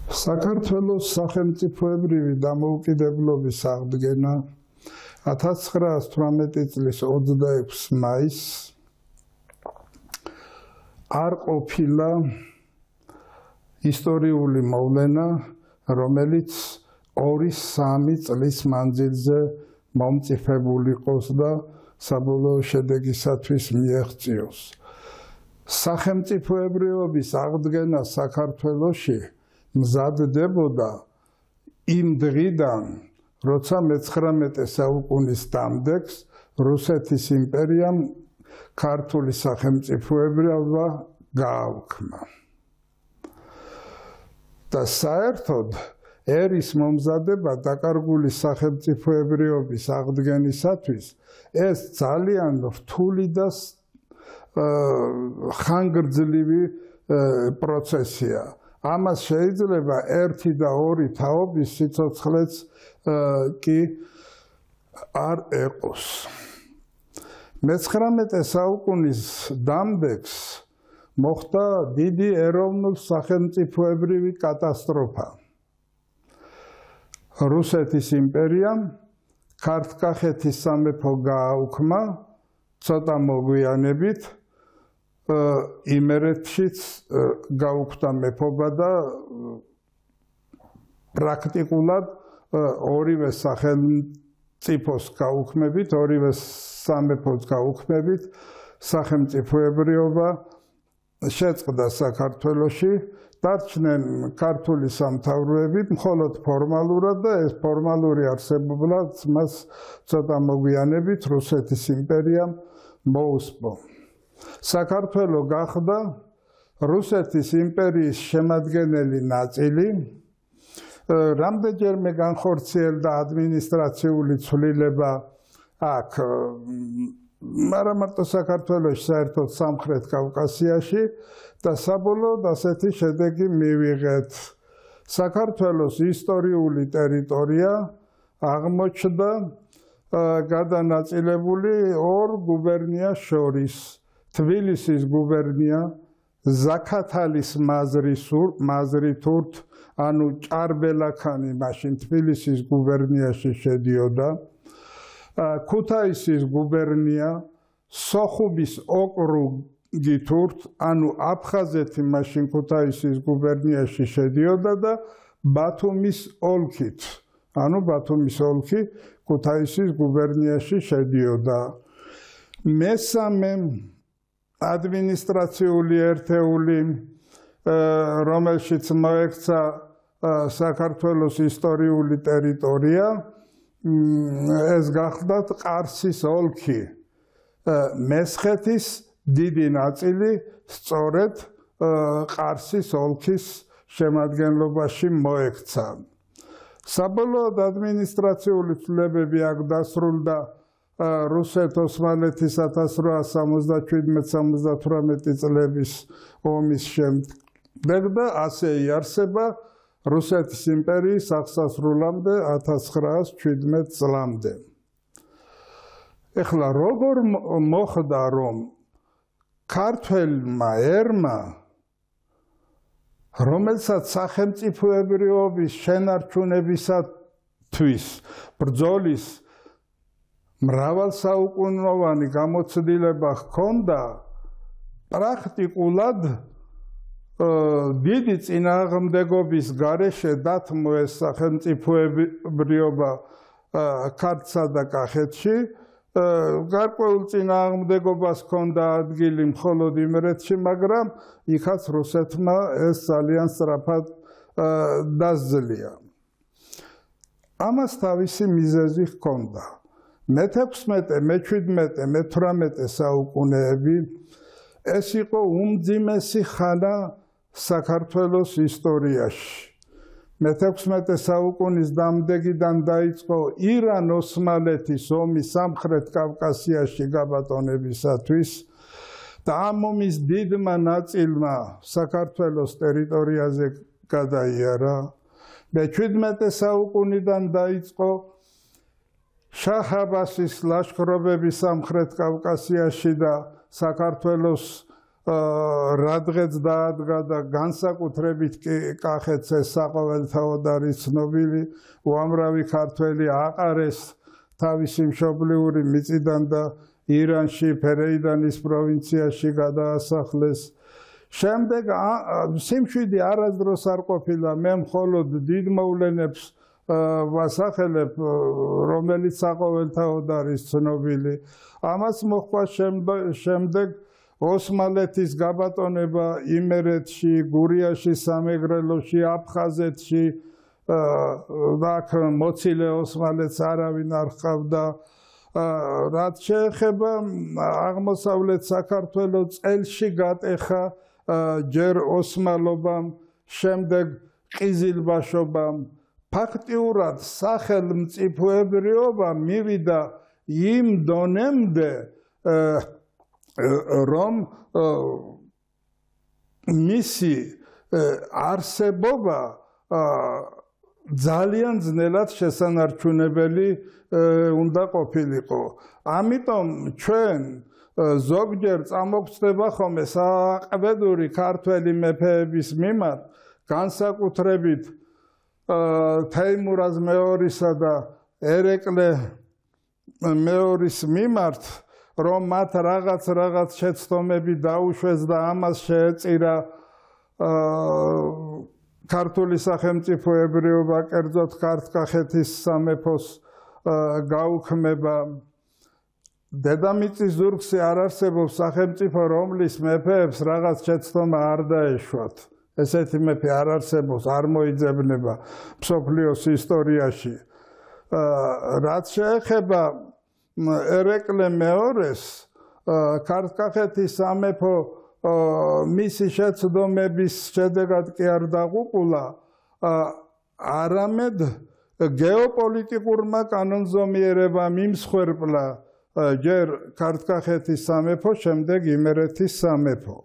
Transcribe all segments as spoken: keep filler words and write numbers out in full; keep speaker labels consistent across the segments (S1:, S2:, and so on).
S1: საქართველოს სახელმწიფოებრივი დამოუკიდებლობის აღდგენა ათას ცხრაას თვრამეტი წლის ოცდაექვსი მაისს არ ყოფილა ისტორიული მოვლენა, რომელიც ორი სამი წლის მანძილზე მომწიფებული იყოს და საბოლოო შედეგისათვის მიაღწიოს. სახელმწიფოებრიობის აღდგენა საქართველოში მზადდებოდა იმ დღიდან, როცა მეცხრამეტე საუკუნის დამდეგს რუსეთის იმპერიამ ქართული სახელმწიფოებრიობა გააუქმა. და საერთოდ ერის მომზადება დაკარგული სახელმწიფოებრიობის აღდგენისათვის ეს ძალიან რთული და ხანგრძლივი პროცესია. ამას შეიძლება ერთი და ორი თაობის სიცოცხლეც კი არ ეყოს. მეცხრამეტე საუკუნის დამდეგს მოხდა დიდი ეროვნულ-სახელმწიფოებრივი კატასტროფა. რუსეთის იმპერიამ ქართლ-კახეთის სამეფო გააუქმა ცოტა მოგვიანებით, იმერეთშიც გაუქმდა მეფობა და პრაქტიკულად ორივე სახელმწიფოს გაუქმებით, ორივე სამეფოს გაუქმებით სახელმწიფოებრიობა შეწყდა საქართველოში, დარჩნენ ქართული სამთავროები მხოლოდ ფორმალურად და ეს ფორმალური არსებობაც მას ცოტა მოგვიანებით რუსეთის იმპერიამ მოუსპო. საქართველო გახდა რუსეთის იმპერიის შემადგენელი ნაწილი, რამდენჯერმე განხორციელდა ადმინისტრაციული ცვლილება აქ, არა მარტო საქართველოში, საერთოდ სამხრეთ კავკასიაში და საბოლოოდ ასეთი შედეგი მივიღეთ. საქართველოს ისტორიული ტერიტორია აღმოჩნდა გადანაწილებული ორ გუბერნიას შორის. თბილისის გუბერნია, ზაქათალის მაზრითურთ, ანუ ჭარბელაქანი მაშინ თბილისის გუბერნიაში შედიოდა, ქუთაისის გუბერნია, სოხუმის ოკრუგითურთ, ანუ აფხაზეთი მაშინ ქუთაისის გუბერნიაში შედიოდა და ბათუმის ოლქით, ანუ ბათუმის ოლქი ქუთაისის გუბერნიაში შედიოდა. მესამე ადმინისტრაციული ერთეული, რომელშიც მოექცა საქართველოს ისტორიული ტერიტორია, ეს გახლდათ ყარსის ოლქი. მესხეთის დიდი ნაწილი სწორედ ყარსის ოლქის შემადგენლობაში მოექცა. საბოლოოდ ადმინისტრაციული ცვლილებები აქ დასრულდა რუსეთ-ოსმალეთის ათას რვაას სამოცდაშვიდმეტ სამოცდათვრამეტი წლების ომის შემდეგ და ასე იარსება რუსეთის იმპერიის აღსასრულამდე ათას ცხრაას შვიდმეტ წლამდე. ეხლა როგორ მოხდა, რომ ქართველმა ერმა, რომელსაც სახელმწიფოებრიობის შენარჩუნებისათვის ბრძოლის მრავალსაუკუნოვანი გამოცდილება ჰქონდა, პრაქტიკულად დიდი წინააღმდეგობის გარეშე დათმო ეს სახელმწიფოებრიობა ქართლსა და კახეთში. გარკვეულ წინააღმდეგობას ჰქონდა ადგილი მხოლოდ იმერეთში, მაგრამ იქაც რუსეთმა ეს ძალიან სწრაფად დასძლია. ამას თავისი მიზეზი ჰქონდა. მეთექვსმეტე, მეჩვიდმეტე, მეთვრამეტე საუკუნეები ეს იყო უმძიმესი ხანა საქართველოს ისტორიაში. მეთექვსმეტე საუკუნის დამდეგიდან დაიწყო ირან-ოსმალეთის ომი სამხრეთ კავკასიაში გაბატონებისათვის და ამ ომის დიდმა ნაწილმა საქართველოს ტერიტორიაზე გადაიარა. მეჩვიდმეტე საუკუნიდან დაიწყო შაჰ-აბასის ლაშქრობები სამხრეთ კავკასიაში და საქართველოს რადგეც დაადგა და განსაკუთრებით კი კახეთს ეს საყოველთაოდ არის ცნობილი, უამრავი ქართველი აყარეს თავისი მშობლიური მიწიდან და ირანში, ფერეიდანის პროვინციაში გადაასახლეს. შემდეგ სიმშვიდე არასდროს არ ყოფილა, მე მხოლოდ დიდ მოვლენებს ვასახელებ, რომელიც საყოველთაოდ არის ცნობილი. ამას მოჰყვა შემდეგ ოსმალეთის გაბატონება იმერეთში, გურიაში, სამეგრელოში, აფხაზეთში, აქ მოცილე ოსმალეთს არავინ არ ჰყავდა. რაც შეეხება აღმოსავლეთ საქართველოს, წელში გატეხა ჯერ ოსმალობამ, შემდეგ ყიზილბაშობამ. ფაქტიურად სახელმწიფოებრიობა მივიდა იმ დონემდე, რომ მისი არსებობა ძალიან ძნელად შესანარჩუნებელი უნდა ყოფილიყო. ამიტომ ჩვენ ზოგჯერ წამოგწდება ხოლმე საყბედური ქართველი მეფეების მიმართ, განსაკუთრებით თეიმურაზ მეორისა და ერეკლე მეორის მიმართ, რომ მათ რაღაც რაღაც შეცდომები დაუშვეს და ამას შეეწირა ქართული სახელმწიფოებრიობა, კერძოდ ქართლ-კახეთის სამეფოს გაუქმება. დედამიწის ზურგზე არ არსებობს სახელმწიფო, რომლის მეფეებს რაღაც შეცდომა არ დაეშვათ. ესეთი მეფე არ არსებობს, არ მოიძებნება მსოფლიოს ისტორიაში. რაც შეეხება ერეკლე მეორეს, ქართლ-კახეთის სამეფო მისი შეცდომების შედეგად კი არ დაღუპულა, არამედ გეოპოლიტიკურმა კანონზომიერებამ იმსხვერპლა ჯერ ქართლ-კახეთის სამეფო, შემდეგ იმერეთის სამეფო.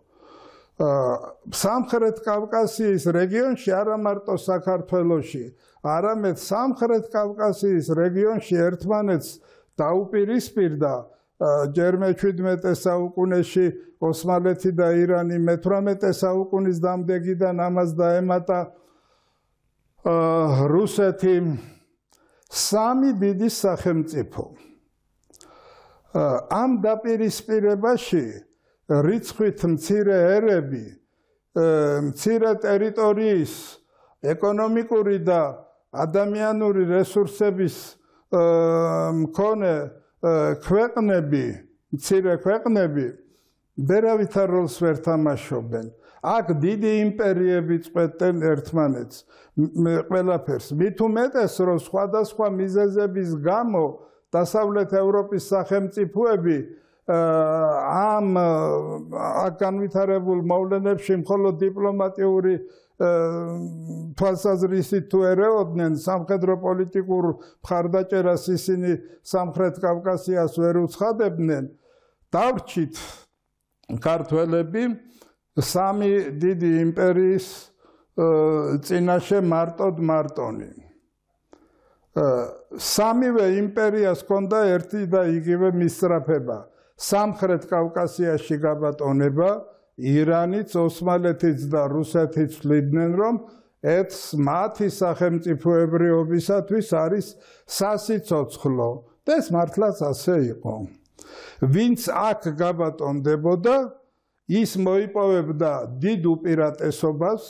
S1: სამხრეთ კავკასიის რეგიონში, არა მარტო საქართველოში, არამედ სამხრეთ კავკასიის რეგიონში ერთმანეთს დაუპირისპირდა ჯერ მეჩვიდმეტე საუკუნეში ოსმალეთი და ირანი, მეთვრამეტე საუკუნის დამდეგიდან ამას დაემატა რუსეთი, სამი დიდი სახელმწიფო. ამ დაპირისპირებაში რიცხვით მცირე ერები, მცირე ტერიტორიის ეკონომიკური და ადამიანური რესურსების მქონე ქვეყნები, მცირე ქვეყნები ვერავითარ როლს ვერ თამაშობენ. აქ დიდი იმპერიები წყვეტენ ერთმანეთს ყველაფერს. მით უმეტეს, რომ სხვადასხვა მიზეზების გამო დასავლეთ ევროპის სახელმწიფოები ამ აქ განვითარებულ მოვლენებში მხოლოდ დიპლომატიური თვალსაზრისით თუ ერეოდნენ სამხედრო პოლიტიკურ მხარდაჭერას, ისინი სამხრეთ კავკასიას ვერ უცხადებდნენ. დავრჩით ქართველები სამი დიდი იმპერიის წინაშე მარტოდ მარტონი. სამივე იმპერიას ჰქონდა ერთი და იგივე მისწრაფება. სამხრეთ კავკასიაში გაბატონება, ირანიც, ოსმალეთიც და რუსეთიც თვლიდნენ, რომ ეს მათი სახელმწიფოებრიობისათვის არის სასიცოცხლო. და ეს მართლაც ასე იყო. ვინც აქ გაბატონდებოდა, ის მოიპოვებდა დიდ უპირატესობას,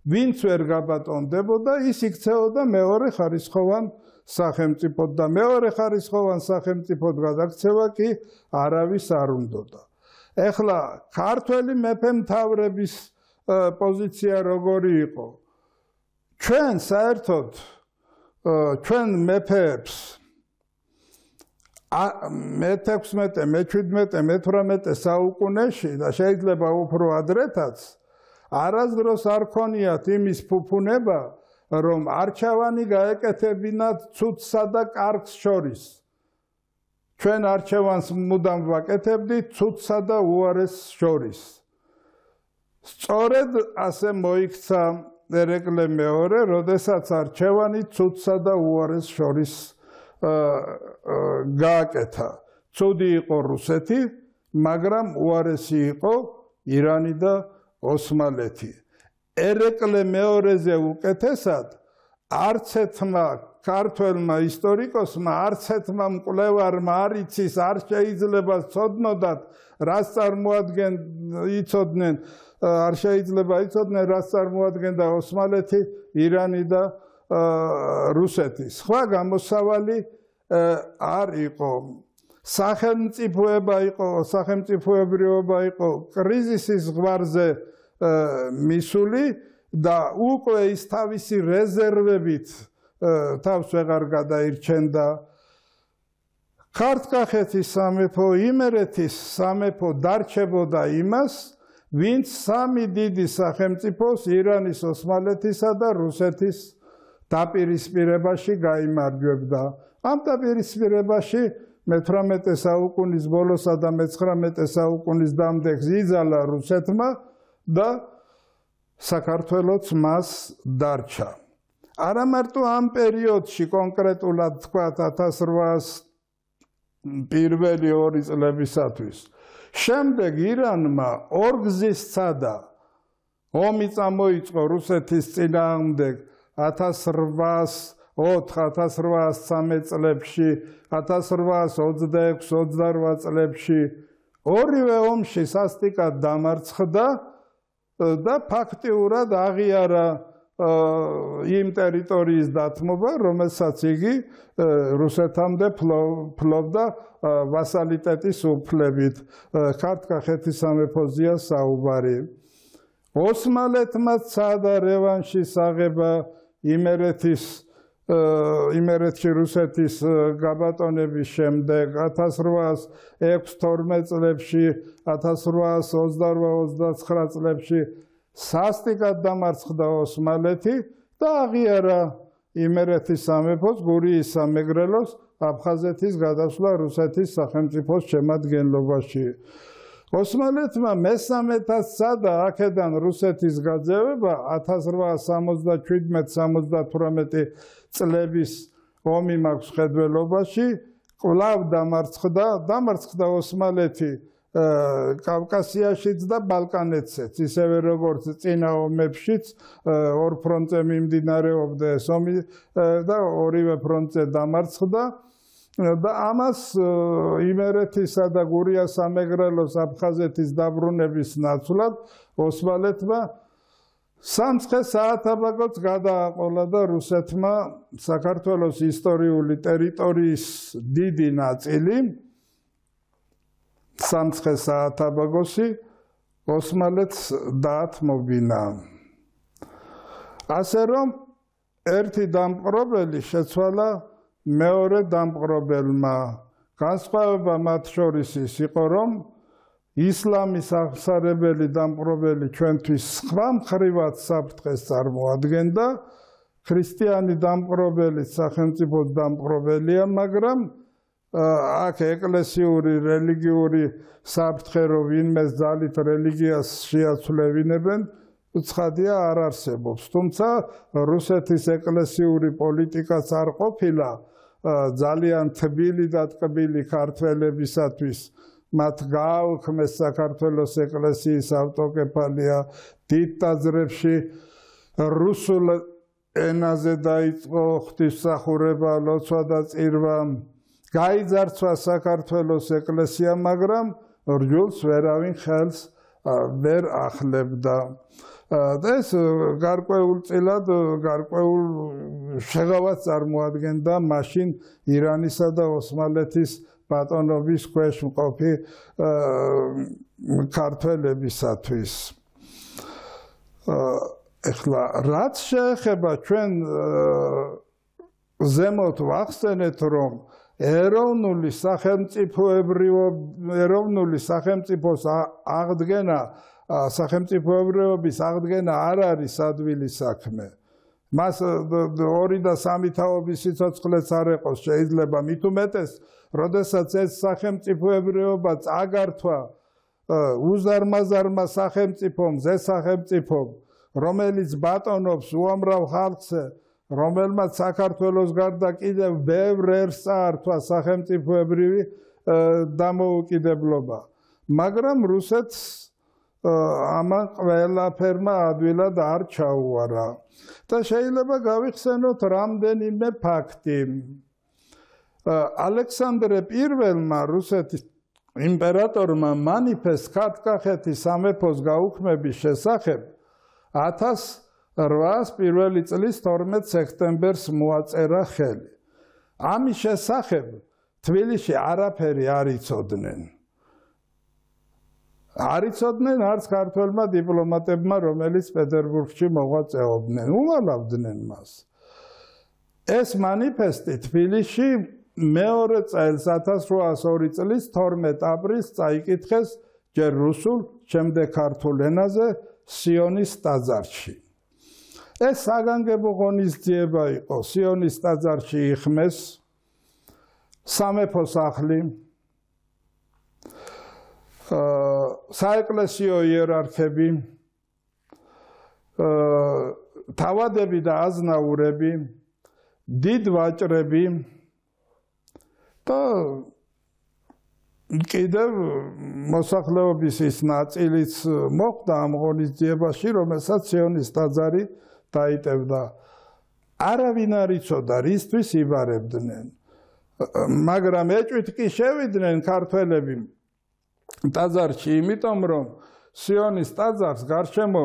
S1: ვინც ვერ გაბატონდებოდა, ის იქცეოდა მეორე ხარისხოვან სახელმწიფოდ და მეორე ხარისხოვან სახელმწიფოდ გადაქცევა კი არავის არ უნდოდა. ეხლა ქართველი მეფე-მთავრების პოზიცია როგორი იყო? ჩვენ საერთოდ ჩვენ მეფეებს მეთექვსმეტე, მეჩვიდმეტე, მეთვრამეტე საუკუნეში და შეიძლება უფრო ადრეთაც არასდროს არ ქონიათ იმის ფუფუნება, რომ არჩევანი გაეკეთებინათ ცუდსა და კარგს შორის. ჩვენ არჩევანს მუდამ ვაკეთებდით ცუდსა და უარესს შორის. სწორედ ასე მოიქცა ერეკლე მეორე, როდესაც არჩევანი ცუდსა და უარესს შორის გააკეთა. ცუდი იყო რუსეთი, მაგრამ უარესი იყო ირანი და ოსმალეთი. ერეკლე მეორეზე უკეთესად არც ერთმა ქართველმა ისტორიკოსმა, არც ერთმა მკვლევარმა არ იცის, არ შეიძლება ცოდნოდათ, რას წარმოადგენ იცოდნენ, არ შეიძლება იცოდნენ, რას წარმოადგენდა ოსმალეთი, ირანი და რუსეთი. სხვა გამოსავალი არ იყო. სახელმწიფოება იყო, სახელმწიფოებრიობა იყო კრიზისის ზღვარზე მისული და უკვე ის თავისი რეზერვებით თავს ვეღარ გადაირჩენდა. ქართლ-კახეთის სამეფო, იმერეთის სამეფო დარჩებოდა იმას, ვინც სამი დიდი სახელმწიფოს ირანის, ოსმალეთისა და რუსეთის დაპირისპირებაში გაიმარჯვებდა. ამ დაპირისპირებაში მეთვრამეტე საუკუნის ბოლოსა და მეცხრამეტე საუკუნის დამდეგს იძალა რუსეთმა და საქართველოც მას დარჩა. არა მარტო ამ პერიოდში კონკრეტულად თქვათ ათას რვაას პირველი ორი წლებისათვის. შემდეგ ირანმა ორგზის სცადა ომი წამოიწყო რუსეთის წინააღმდეგ ათას რვაას ოთხ ათას რვაას ცხრამეტ წლებში, ათას რვაას ოცდაექვსი ოცდარვა წლებში. ორივე ომში სასტიკად დამარცხდა და ფაქტიურად აღიარა იმ ტერიტორიის დათმობა, რომელსაც იგი რუსეთამდე ფლობდა ვასალიტეტის უფლებით. ქართლ-კახეთის სამეფოზეა საუბარი. ოსმალეთმა სცადა რევანშის აღება იმერეთის იმერეთში რუსეთის გაბატონების შემდეგ ათას რვაას ექვსი თორმეტ წლებში, ათას რვაას ოცდარვა ოცდაცხრა წლებში სასტიკად დამარცხდა ოსმალეთი და აღიარა იმერეთის სამეფოს, გურიის სამეგრელოს, აფხაზეთის გადასვლა რუსეთის სახელმწიფოს შემადგენლობაში. ოსმალეთმა მესამედაც სცადა აქედან რუსეთის გაძევება ათას რვაას სამოცდაშვიდმეტ სამოცდათვრამეტი წლების ომი მაქვს ხედველობაში, კვლავ დამარცხდა, დამარცხდა ოსმალეთი კავკასიაშიც და ბალკანეთშიც, ისევე როგორც წინა ომებშიც ორ ფრონტზე მიმდინარეობდა ეს ომი და ორივე ფრონტზე დამარცხდა. და ამას იმერეთისა და გურიას სამეგრელოს აფხაზეთის დაბრუნების ნაცვლად ოსმალეთმა სამცხე საათაბაგოც გადააყოლა და რუსეთმა საქართველოს ისტორიული ტერიტორიის დიდი ნაწილი სამცხე საათაბაგოსი ოსმალეთს დაათმობინა. ასე რომ ერთი დამპყრობელი შეცვალა მეორე დამპყრობელმა. განსხვავება მათ შორის ის იყო, რომ ისლამის აღსარებელი დამპყრობელი ჩვენთვის სხვა მხრივად საფრთხეს წარმოადგენდა, ქრისტიანი დამპყრობელი სახელმწიფოს დამპყრობელია, მაგრამ აქ ეკლესიური, რელიგიური საფრთხე, რომ ვინმეს ძალით რელიგიას შეაცვლევინებენ, ცხადია არ არსებობს. თუმცა რუსეთის ეკლესიური პოლიტიკაც არ ყოფილა ძალიან თბილი და ტკბილი ქართველებისათვის. მათ გააუქმეს საქართველოს ეკლესიის ავტოკეფალია, დიდ ტაძრებში რუსულ ენაზე დაიწყო ღვთისმსახურება, ლოცვა და წირვა. გაიძარცვა საქართველოს ეკლესია, მაგრამ რჯულს ვერავინ ხელს ვერ ახლებდა. ეს გარკვეულწილად გარკვეულ შეღავას წარმოადგენდა მაშინ ირანისა და ოსმალეთის ბატონობის ქვეშ მყოფი ქართველებისათვის. ეხლა რაც შეეხება ჩვენ ზემოთ ვახსენეთ, რომ ეროვნული სახელმწიფოებრიობა, ეროვნული სახელმწიფოს აღდგენა, სახელმწიფოებრიობის აღდგენა არ არის ადვილი საქმე. მას ორი და სამი თაობის სიცოცხლეც არ ეყოს შეიძლება, მით უმეტეს, როდესაც ეს სახელმწიფოებრიობა წაგართვა უზარმაზარმა სახელმწიფომ, ზე სახელმწიფომ, რომელიც ბატონობს უამრავ ხალხზე, რომელმაც საქართველოს გარდა კიდევ ბევრ ერს წაართვა სახელმწიფოებრივი დამოუკიდებლობა. მაგრამ რუსეთს ამან ყველაფერმა ადვილად არ ჩაუარა. და შეიძლება გავიხსენოთ რამდენიმე ფაქტი. ალექსანდრე პირველმა რუსეთის იმპერატორმა მანიფესტს ქართლ-კახეთის სამეფოს გაუქმების შესახებ ათას რვაას პირველი წლის თორმეტ სექტემბერს მოაწერა ხელი. ამის შესახებ თბილისში არაფერი არ იცოდნენ. არ იცოდნენ არც ქართველმა დიპლომატებმა, რომელიც პეტერბურგში მოღვაწეობდნენ, უვალავდნენ მას. ეს მანიფესტი თბილისში მეორე წელს ათას რვაას ორი წლის თორმეტ აპრილს წაიკითხეს ჯერ რუსულ, შემდეგ ქართულ ენაზე სიონის ტაძარში. ეს საგანგებო ღონისძიება იყო. სიონის ტაძარში იხმეს სამეფო სახლი, საეკლესიო იერარქები, თავადები და აზნაურები, დიდ ვაჭრები და კიდევ მოსახლეობის ის ნაწილიც მოხვდა ამ ღონისძიებაში, რომელსაც სიონის ტაძარი დაიტევდა. არავინ არ იცოდა, რისთვის იბარებდნენ. მაგრამ ეჭვით კი შევიდნენ ქართველები ტაძარში, იმიტომ რომ სიონის ტაძარს გარშემო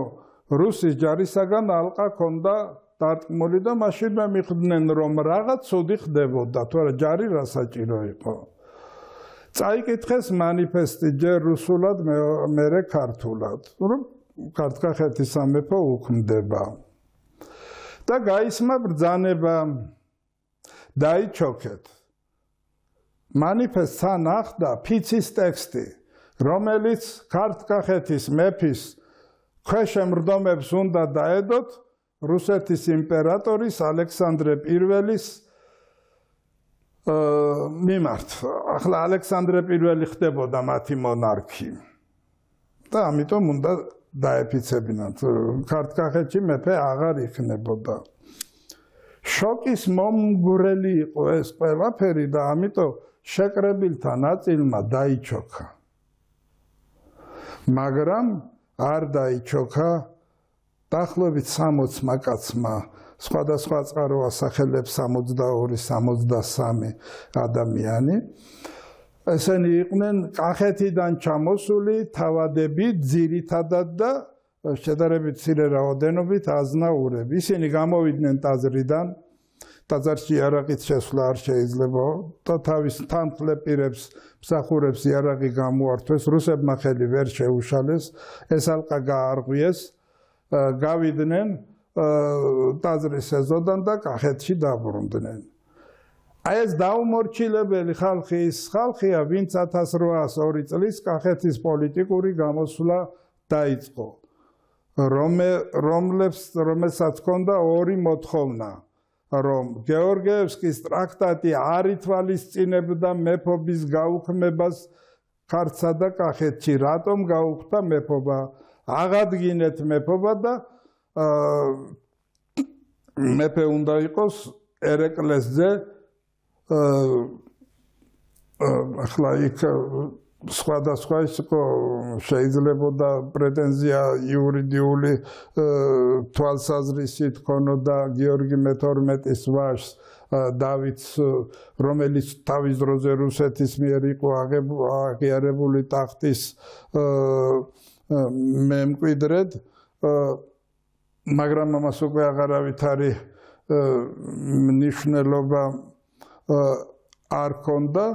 S1: რუსის ჯარისაგან ალყა ჰქონდა დარტყმული და მაშინვე მიხვდნენ, რომ რაღაც ცუდი ხდებოდა, თორე ჯარი რა საჭირო იყო. წაიკითხეს მანიფესტი ჯერ რუსულად, მერე ქართულად, რომ ქართლ-კახეთის სამეფო უქმდება. და გაისმა ბრძანება, დაიჩოქეთ. მანიფესტს თან ახლდა ფიცის ტექსტი, რომელიც ქართლ-კახეთის მეფის ქვეშემრდომებს უნდა დაედოთ რუსეთის იმპერატორის ალექსანდრე პირველის მიმართ. ახლა ალექსანდრე პირველი ხდებოდა მათი მონარქი და ამიტომ უნდა დაეფიცებინათ. ქართლ-კახეთში მეფე აღარ იქნებოდა. შოკის მომგვრელი იყო ეს ყველაფერი და ამიტომ შეკრებილთა ნაწილმა დაიჩოქა. მაგრამ არ დაიჩოქა დაახლოებით სამოცმა კაცმა, სხვადასხვა წყარო ასახელებს სამოცდაორი სამოცდასამი ადამიანი. ესენი იყვნენ კახეთიდან ჩამოსული თავადები, ძირითადად და შედარებით მცირე რაოდენობით აზნაურები. ისინი გამოვიდნენ ტაძრიდან, ტაძარში იარაღით შესვლა არ შეიძლება და თავის თანხლებ პირებს, მსახურებს იარაღი გამოართვეს, რუსებმა ხელი ვერ შეუშალეს, ეს ალყა გაარღვიეს, გავიდნენ ტაძრის ეზოდან და კახეთში დაბრუნდნენ. აი ეს დაუმორჩილებელი ხალხი ის ხალხია, ვინც ათას რვაას ორი წლის კახეთის პოლიტიკური გამოსვლა დაიწყო, რომელსაც ჰქონდა ორი მოთხოვნა, რომ გეორგიევსკის ტრაქტატი არ ითვალისწინებდა მეფობის გაუქმებას ქართლსა და კახეთში, რატომ გაუქმდა მეფობა, აღადგინეთ მეფობა და მეფე უნდა იყოს ერეკლესზე. ახლა იქ სხვადასხვა ის შეიძლებოდა პრეტენზია იურიდიული თვალსაზრისით ქონოდა გიორგი მეთორმეტის ვაჟს დავითს, რომელიც თავის დროზე რუსეთის მიერ იყო აღიარებული ტახტის მემკვიდრედ, მაგრამ ამას უკვე აღარავით არის მნიშვნელობა არ ჰქონდა.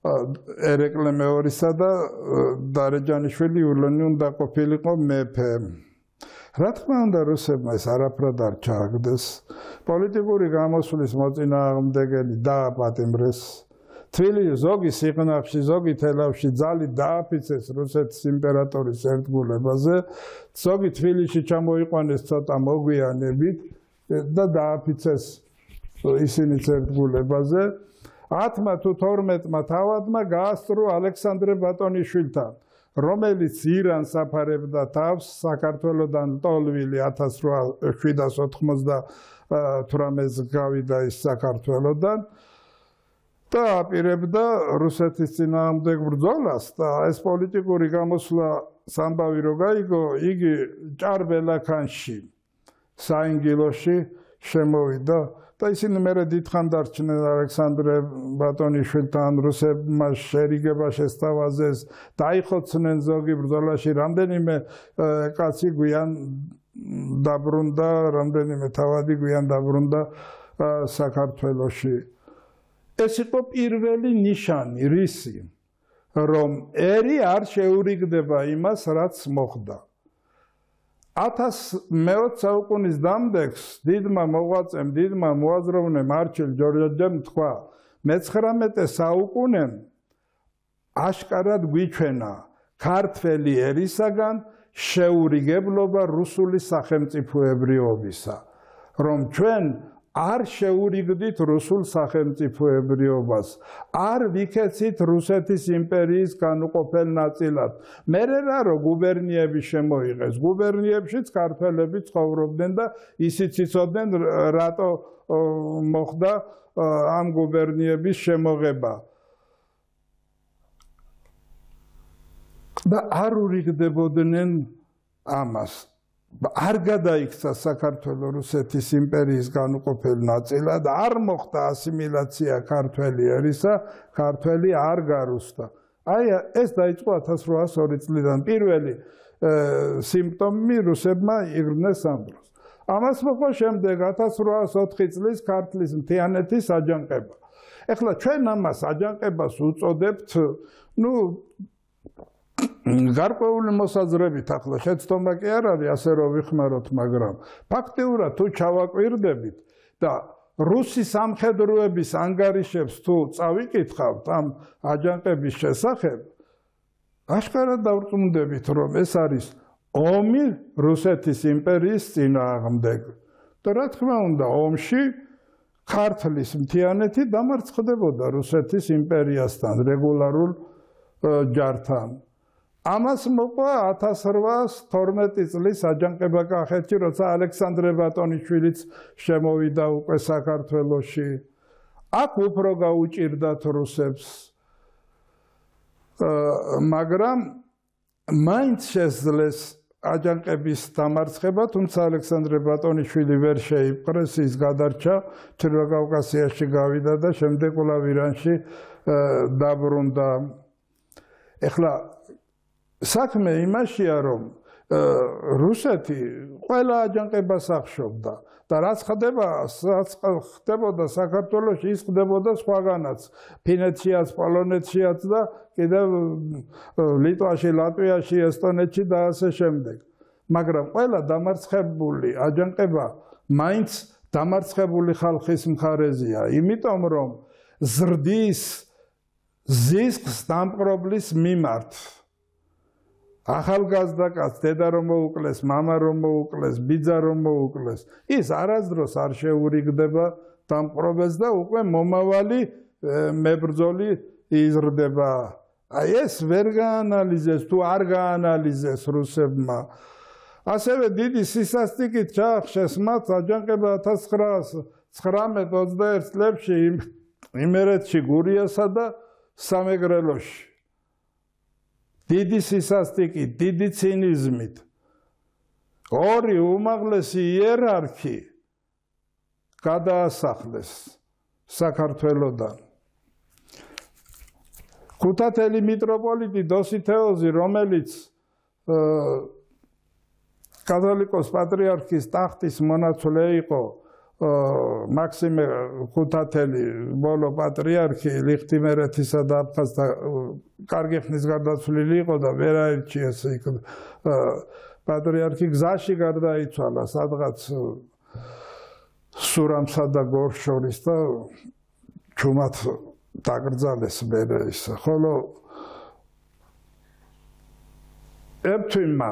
S1: ერეკლე მეორისა და დარეჯანიშვილი იულიონი უნდა ყოფილიყო მეფე. რა თქმა უნდა, რუსებმა ეს არაფრად არ ჩააგდეს. პოლიტიკური გამოსვლის მოწინააღმდეგენი დააპატიმრეს. თბილისში ზოგი სიღნაღში, ზოგი თელავში ძალით დააფიცეს რუსეთის იმპერატორის ერთგულებაზე, ზოგი თბილისში ჩამოიყვანეს ცოტა მოგვიანებით და დააფიცეს ისინიც ერთგულებაზე. ათმა თუ თორმეტმა თავადმა გაასწრო ალექსანდრე ბატონიშვილთან, რომელიც ირანს აფარებდა თავს საქართველოდან ლტოლვილი ათას შვიდას ოთხმოცდათვრამეტს გავიდა ის საქართველოდან. და აპირებდა რუსეთის წინააღმდეგ ბრძოლას და ეს პოლიტიკური გამოსვლა სამბავი რო გაიგო, იგი ჭარბელაქანში საინგილოში შემოვიდა და ისინი მერე დიდხან დარჩნენ ალექსანდრე ბატონიშვილთან, რუსებმა შერიგება შესთავაზეს, დაიხოცნენ ზოგი ბრძოლაში, რამდენიმე კაცი გვიან დაბრუნდა, რამდენიმე თავადი გვიან დაბრუნდა საქართველოში. ეს იყო პირველი ნიშანი, რისი, რომ ერი არ შეურიგდება იმას, რაც მოხდა. ათას მეოცე საუკუნის დამდეგს დიდმა მოღვაწემ, დიდმა მოაზროვნემ არჩილ ჯორჯაძემ თქვა, მეცხრამეტე საუკუნემ აშკარად გვიჩვენა ქართველი ერისაგან შეურიგებლობა რუსული სახელმწიფოებრიობისა, რომ ჩვენ არ შეურიგდით რუსულ სახელმწიფოებრიობას, არ ვიქეცით რუსეთის იმპერიის განუყოფელ ნაწილად. მერე რა რო გუბერნიები შემოიღეს, გუბერნიებშიც ქართველები ცხოვრობდნენ და ისიც იცოდნენ, რატო მოხდა ამ გუბერნიების შემოღება. და არ ურიგდებოდნენ ამას. არ გადაიქცა საქართველოს რუსეთის იმპერიის განუყოფელ ნაწილად, არ მოხდა ასიმილაცია ქართველი ერისა, ქართველი არ გარუსტა. აი ეს დაიწყო ათას რვაას ორი წლიდან. პირველი სიმპტომი რუსებმა იღრნენ ამ დროს. ამას მოყვა შემდეგ ათას რვაას ოთხი წლის ქართლის მთიანეთის აჯანყება. ეხლა ჩვენ ამას აჯანყებას უწოდებთ, ნუ გარკვეული მოსაზრებით ახლა შეცდომა კი არ არის ასე რომ ვიხმაროთ, მაგრამ ფაქტიურად თუ ჩავაკვირდებით და რუსი სამხედროების ანგარიშებს თუ წავიკითხავთ ამ აჯანყების შესახებ, აშკარად დავრწმუნდებით, რომ ეს არის ომი რუსეთის იმპერიის წინააღმდეგ. და რა თქმა უნდა, ომში ქართლის მთიანეთი დამარცხდებოდა რუსეთის იმპერიასთან, რეგულარულ ჯართან. ამას მოყვა ათას რვაას თორმეტი წლის აჯანყება კახეთში, როცა ალექსანდრე ბატონიშვილიც შემოვიდა უკვე საქართველოში. აქ უფრო გაუჭირდათ რუსებს. მაგრამ მაინც შესძლეს აჯანყების დამარცხება, თუმცა ალექსანდრე ბატონიშვილი ვერ შეიპყრეს, ის გადარჩა, ჩრდილო კავკასიაში გავიდა და შემდეგ კვლავ ირანში დაბრუნდა. ეხლა საქმე იმაშია, რომ რუსეთი ყველა აჯანყებას ახშობდა და რაც ხდება, რაც ხდებოდა საქართველოში, ის ხდებოდა სხვაგანაც, ფინეთშიაც, პოლონეთშიაც და კიდევ ლიტვაში, ლატვიაში, ესტონეთში და ასე შემდეგ. მაგრამ ყველა დამარცხებული აჯანყება მაინც დამარცხებული ხალხის მხარეზეა, იმიტომ რომ ზრდის ზისკს დამპყრობლის მიმართ. ახალგაზრდა კაცს დედა რომ მოუკლეს, მამა რომ მოუკლეს, ბიძა რომ მოუკლეს, ის არასდროს არ შეურიგდება დამპყრობელს და უკვე მომავალი მებრძოლი იზრდება. აი ეს ვერ გაანალიზეს თუ არ გაანალიზეს რუსებმა. ასევე დიდი სისასტიკით ჩაახშეს მათ აჯანყება ათას ცხრაას ცხრამეტ ოცდაერთ წლებში იმერეთში, გურიასა და სამეგრელოში. დიდი სისასტიკით, დიდი ცინიზმით. ორი უმაღლესი იერარქი გადაასახლეს საქართველოდან. ქუთათელი მიტროპოლიტი დოსითეოზი, რომელიც კათოლიკოს პატრიარქის ტახტის მონაცვლე იყო, მაქსიმე ქუთათელი ბოლო პატრიარქი ლიხტიმერეთისა და აფხაზთა კარგი ხნის გარდაცვლილი იყო და ვერ აირჩიეს იქ პატრიარქი გზაში გარდაიცვალა სადღაც სურამსა და გორს შორის და ჩუმად დაკრძალეს მერე ის. ხოლო ეფთვიმმა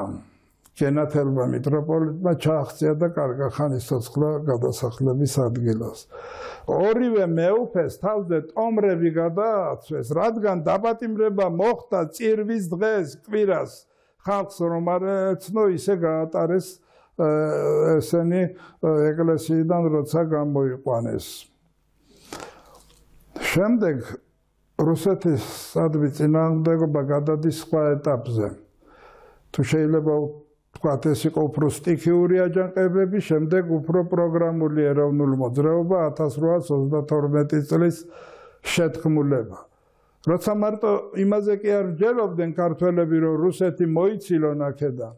S1: გენათელმა მიტროპოლიტმა ჩააღწია და კარგა ხანის ცოცხლა გადასახლების ადგილას. ორივე მეუფეს თავზე ტომრები გადააცვეს, რადგან დაპატიმრება მოხდა წირვის დღეს, კვირას, ხალხს რომ არ ეცნო, ისე გაატარეს ესენი ეკლესიიდან, როცა გამოიყვანეს. შემდეგ რუსეთის სადმე წინააღმდეგობა გადადის სხვა ეტაპზე. თუ შეიძლება ვთქვათ, ეს იყო უფრო სტიქიური აჯანყებები, შემდეგ უფრო პროგრამული ეროვნული მოძრაობა ათას რვაას ოცდათორმეტი წლის შეთქმულება. როცა მარტო იმაზე კი არ მსჯელობდნენ ქართველები, რომ რუსეთი მოიცილონ აქედან,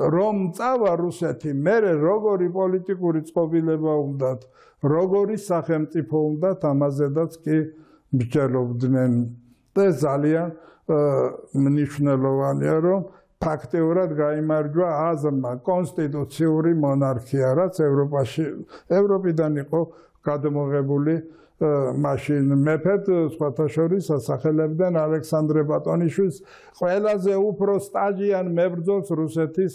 S1: რომ წავა რუსეთი, მერე როგორი პოლიტიკური წყობილება უნდათ, როგორი სახელმწიფო უნდათ, ამაზედაც კი მსჯელობდნენ. და ძალიან მნიშვნელოვანია, რომ ფაქტიურად გაიმარჯვა აზრმა კონსტიტუციური მონარქია, რაც ევროპაში, ევროპიდან იყო გადმოღებული მაშინ მეფედ, სხვათა შორის ასახელებდნენ ალექსანდრე ბატონიშვილს, ყველაზე უფრო სტაჟიან მებრძოლს რუსეთის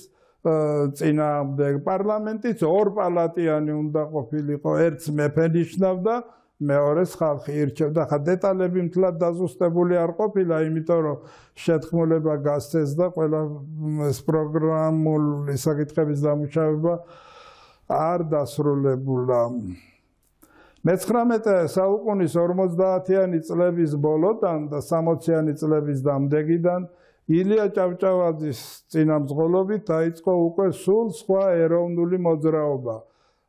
S1: წინააღმდეგ. პარლამენტიც ორპალატიანი უნდა ყოფილიყო, ერთს მეფე ნიშნავდა, მეორეს ხალხი ირჩევდა. ხა დეტალები მთლად დაზუსტებული არ ყოფილა, იმიტომ რომ შეთქმულება გასცეს და ყველა ეს პროგრამული საკითხების დამუშავება არ დასრულებულა. მეცხრამეტე საუკუნის ორმოცდაათიანი წლების ბოლოდან და სამოციანი წლების დამდეგიდან ილია ჭავჭავაძის წინამძღოლობით დაიწყო უკვე სულ სხვა ეროვნული მოძრაობა,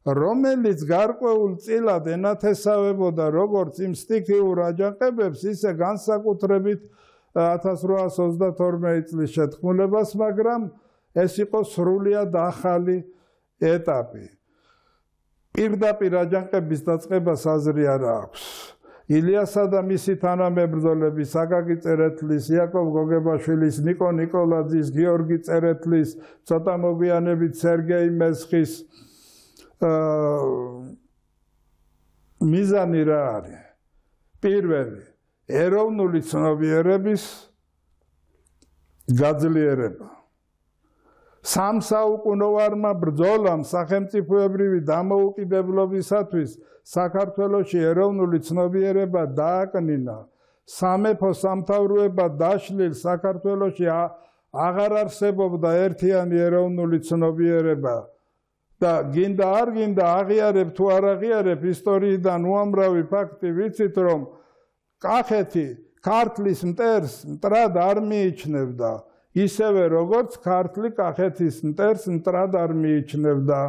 S1: რომელიც გარკვეულ წილად ენათესავებოდა როგორც იმ სტიქიურ აჯანყებებს, ისე განსაკუთრებით ათას რვაას ოცდათორმეტი წლის შეთქმულებას, მაგრამ ეს იყო სრულიად ახალი ეტაპი. პირდაპირ აჯანყების დაწყებას აზრი არ აქვს. ილიასა და მისი თანამებრძოლები საგაგი წერეთლის, იაკობ გოგებაშვილის, ნიკო ნიკოლაძის, გიორგი წერეთლის, ცოტა მოგვიანებით სერგეი მესხის მიზანი რა არის? პირველი, ეროვნული ცნობიერების გაძლიერება. სამსაუკუნოვარმა ბრძოლამ სახელმწიფოებრივი დამოუკიდებლობისათვის საქართველოში ეროვნული ცნობიერება დააკნინა. სამეფო სამთავროება დაშლილ საქართველოში აღარ არსებობდა ერთიანი ეროვნული ცნობიერება. და გინდა არ გინდა აღიარებ თუ არ აღიარებ ისტორიიდან უამრავი ფაქტი ვიცით, რომ კახეთი ქართლის მტერს მტრად არ მიიჩნევდა, ისევე როგორც ქართლი კახეთის მტერს მტრად არ მიიჩნევდა.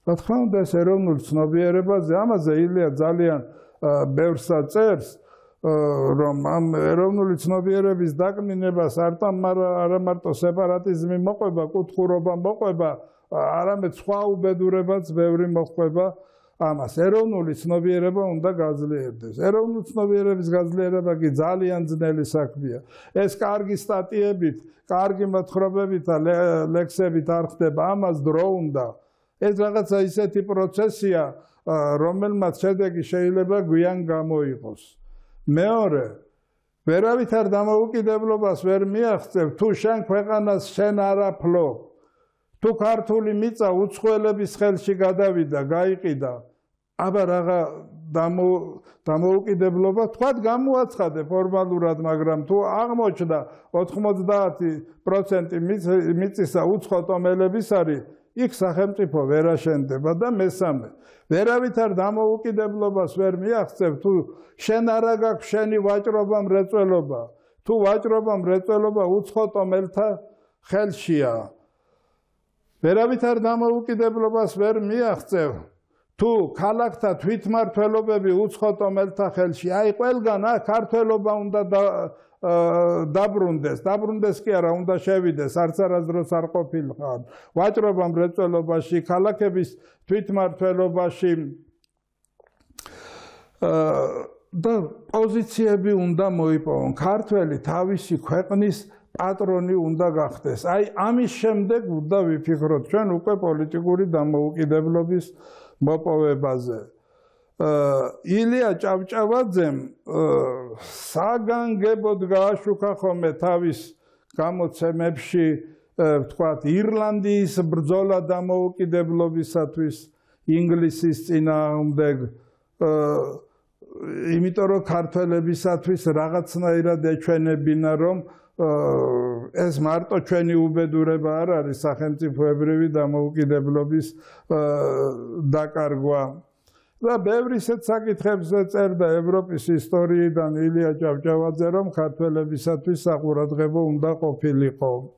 S1: რა თქმა უნდა, ეს ეროვნულ ცნობიერებაზე, ამაზე ილია ძალიან ბევრსა წერს, რომ ამ ეროვნული ცნობიერების დაკნინებას არა მარტო სეპარატიზმი მოყვება, კუთხურობა მოყვება, არამედ სხვა უბედურებაც ბევრი მოყვება ამას. ეროვნული ცნობიერება უნდა გაძლიერდეს. ეროვნული ცნობიერების გაძლიერება კი ძალიან ძნელი საქმეა. ეს კარგი სტატიებით, კარგი მოთხრობებით და ლექსებით არ ხდება, ამას დრო უნდა. ეს რაღაცა ისეთი პროცესია, რომელმაც შედეგი შეიძლება გვიან გამოიყოს. მეორე, ვერავით არ დამოუკიდებლობას ვერ მიაღწევ, თუ შენ ქვეყანას შენ არ აფლო. თუ ქართული მიწა უცხოელების ხელში გადავიდა, გაიყიდა, აბა რაღაცა დამოუკიდებლობა თქვათ გამოაცხადე ფორმალურად, მაგრამ თუ აღმოჩნდა ოცდაათი პროცენტი მიწისა უცხო ტომელების არის, იქ სახელმწიფო ვერ აშენდება. და მესამე, ვერავით არ დამოუკიდებლობას ვერ მიაღწევ, თუ შენ არა გაქვს შენი ვაჭრობა მრეწველობა, თუ ვაჭრობა მრეწველობა უცხო ტომელთა ხელშია. ვერავით არ დამოუკიდებლობას ვერ მიაღწევ, თუ ქალაქთა თვითმმართველობები უცხო ტომელთა ხელში, აი ყველგან ქართველობა უნდა დაბრუნდეს, დაბრუნდეს კი არა, უნდა შევიდეს, არც არასდროს არ ყოფილიყარ. ვაჭრობა მრეწველობაში, ქალაქების თვითმმართველობაში და პოზიციები უნდა მოიპოვონ. ქართველი თავისი ქვეყნის პატრონი უნდა გახდეს. აი ამის შემდეგ უნდა ვიფიქროთ ჩვენ უკვე პოლიტიკური დამოუკიდებლობის მოპოვებაზე. ილია ჭავჭავაძემ საგანგებოდ გააშუქა ხოლმე თავის გამოცემებში, ვთქვათ, ირლანდიის ბრძოლა დამოუკიდებლობისათვის ინგლისის წინააღმდეგ, იმიტომ რომ ქართველებისათვის რაღაცნაირად ეჩვენებინა, რომ ეს მარტო ჩვენი უბედურება არ არის სახელმწიფოებრივი დამოუკიდებლობის დაკარგვა. და ბევრი ისეთ საკითხებს წერდა ევროპის ისტორიიდან ილია ჭავჭავაძე, რომ ქართველებისათვის საყურადღებო უნდა ყოფილიყო.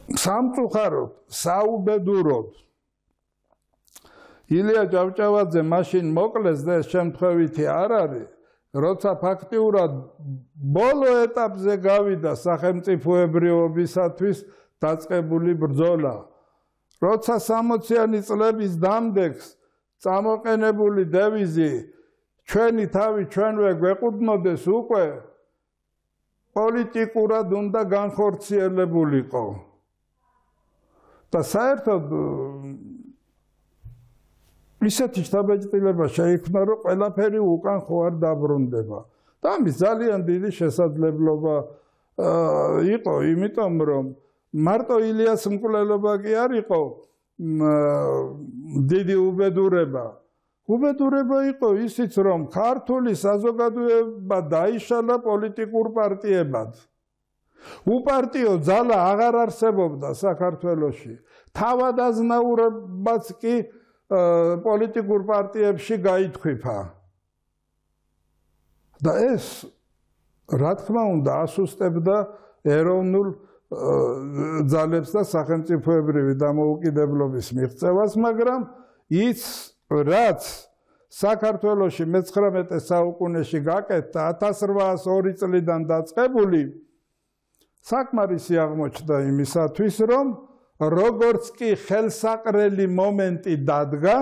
S1: სამწუხაროდ, საუბედუროდ ილია ჭავჭავაძე მაშინ მოკლეს და ეს შემთხვევითი არ არის, როცა ფაქტიურად ბოლო ეტაპზე გავიდა სახელმწიფოებრიობისათვის დაწყებული ბრძოლა. როცა სამოციანი წლების დამდეგს წამოყენებული დევიზი ჩვენი თავი ჩვენვე გვეყუდნოდეს უკვე პოლიტიკურად უნდა განხორციელებულიყო. და საერთოდ ისეთი შთაბეჭდილება შეიქმნა, რომ ყველაფერი უკან ხო არ დაბრუნდება. და ამის ძალიან დიდი შესაძლებლობა იყო, იმიტომ რომ მარტო ილიას მკვლელობა კი არ იყო დიდი უბედურება. უბედურება იყო ისიც, რომ ქართული საზოგადოება დაიშალა პოლიტიკურ პარტიებად. უპარტიო ძალა აღარ არსებობდა საქართველოში. თავადაზნაურებაც კი პოლიტიკურ პარტიებში გაითქვიფა. და ეს, რა თქმა უნდა, ასუსტებდა ეროვნულ ძალებს და სახელმწიფოებრივი დამოუკიდებლობის მიღწევას, მაგრამ ის, რაც საქართველოში მეცხრამეტე საუკუნეში გაკეთდა ათას რვაას ორი წლიდან დაწყებული, საკმარისი აღმოჩნდა იმისათვის, რომ როგორც კი ხელსაყრელი მომენტი დადგა,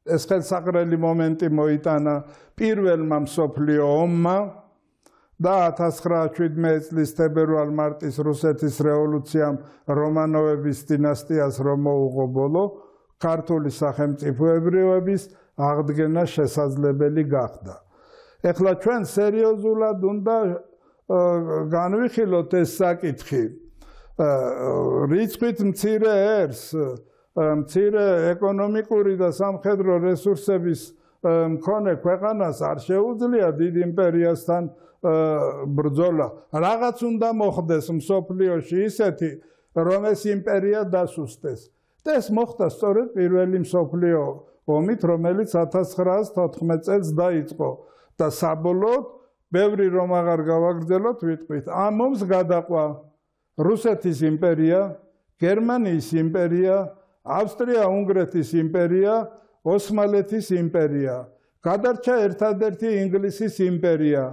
S1: ეს ხელსაყრელი მომენტი მოიტანა პირველმა მსოფლიო ომმა და ათას ცხრაას შვიდმეტი წლის თებერვალ-მარტის რუსეთის რევოლუციამ რომანოვების დინასტიას რომ მოუღო ბოლო, ქართული სახელმწიფოებრიობის აღდგენა შესაძლებელი გახდა. ეხლა ჩვენ სერიოზულად უნდა განვიხილოთ ეს საკითხი. რიცხვით მცირე ერს, მცირე ეკონომიკური და სამხედრო რესურსების მქონე ქვეყანას არ შეუძლია დიდ იმპერიასთან ბრძოლა. რაღაც უნდა მოხდეს მსოფლიოში ისეთი, რომ ეს იმპერია დასუსტეს. და ეს მოხდა სწორედ პირველი მსოფლიო ომით, რომელიც ათას ცხრაას თოთხმეტ წელს დაიწყო და საბოლოოდ ბევრი რომ აღარ გავაგრძელოთ, ვიტყვით, ამ ომს გადაყვა რუსეთის იმპერია, გერმანიის იმპერია, ავსტრია-უნგრეთის იმპერია, ოსმალეთის იმპერია. გადარჩა ერთადერთი ინგლისის იმპერია.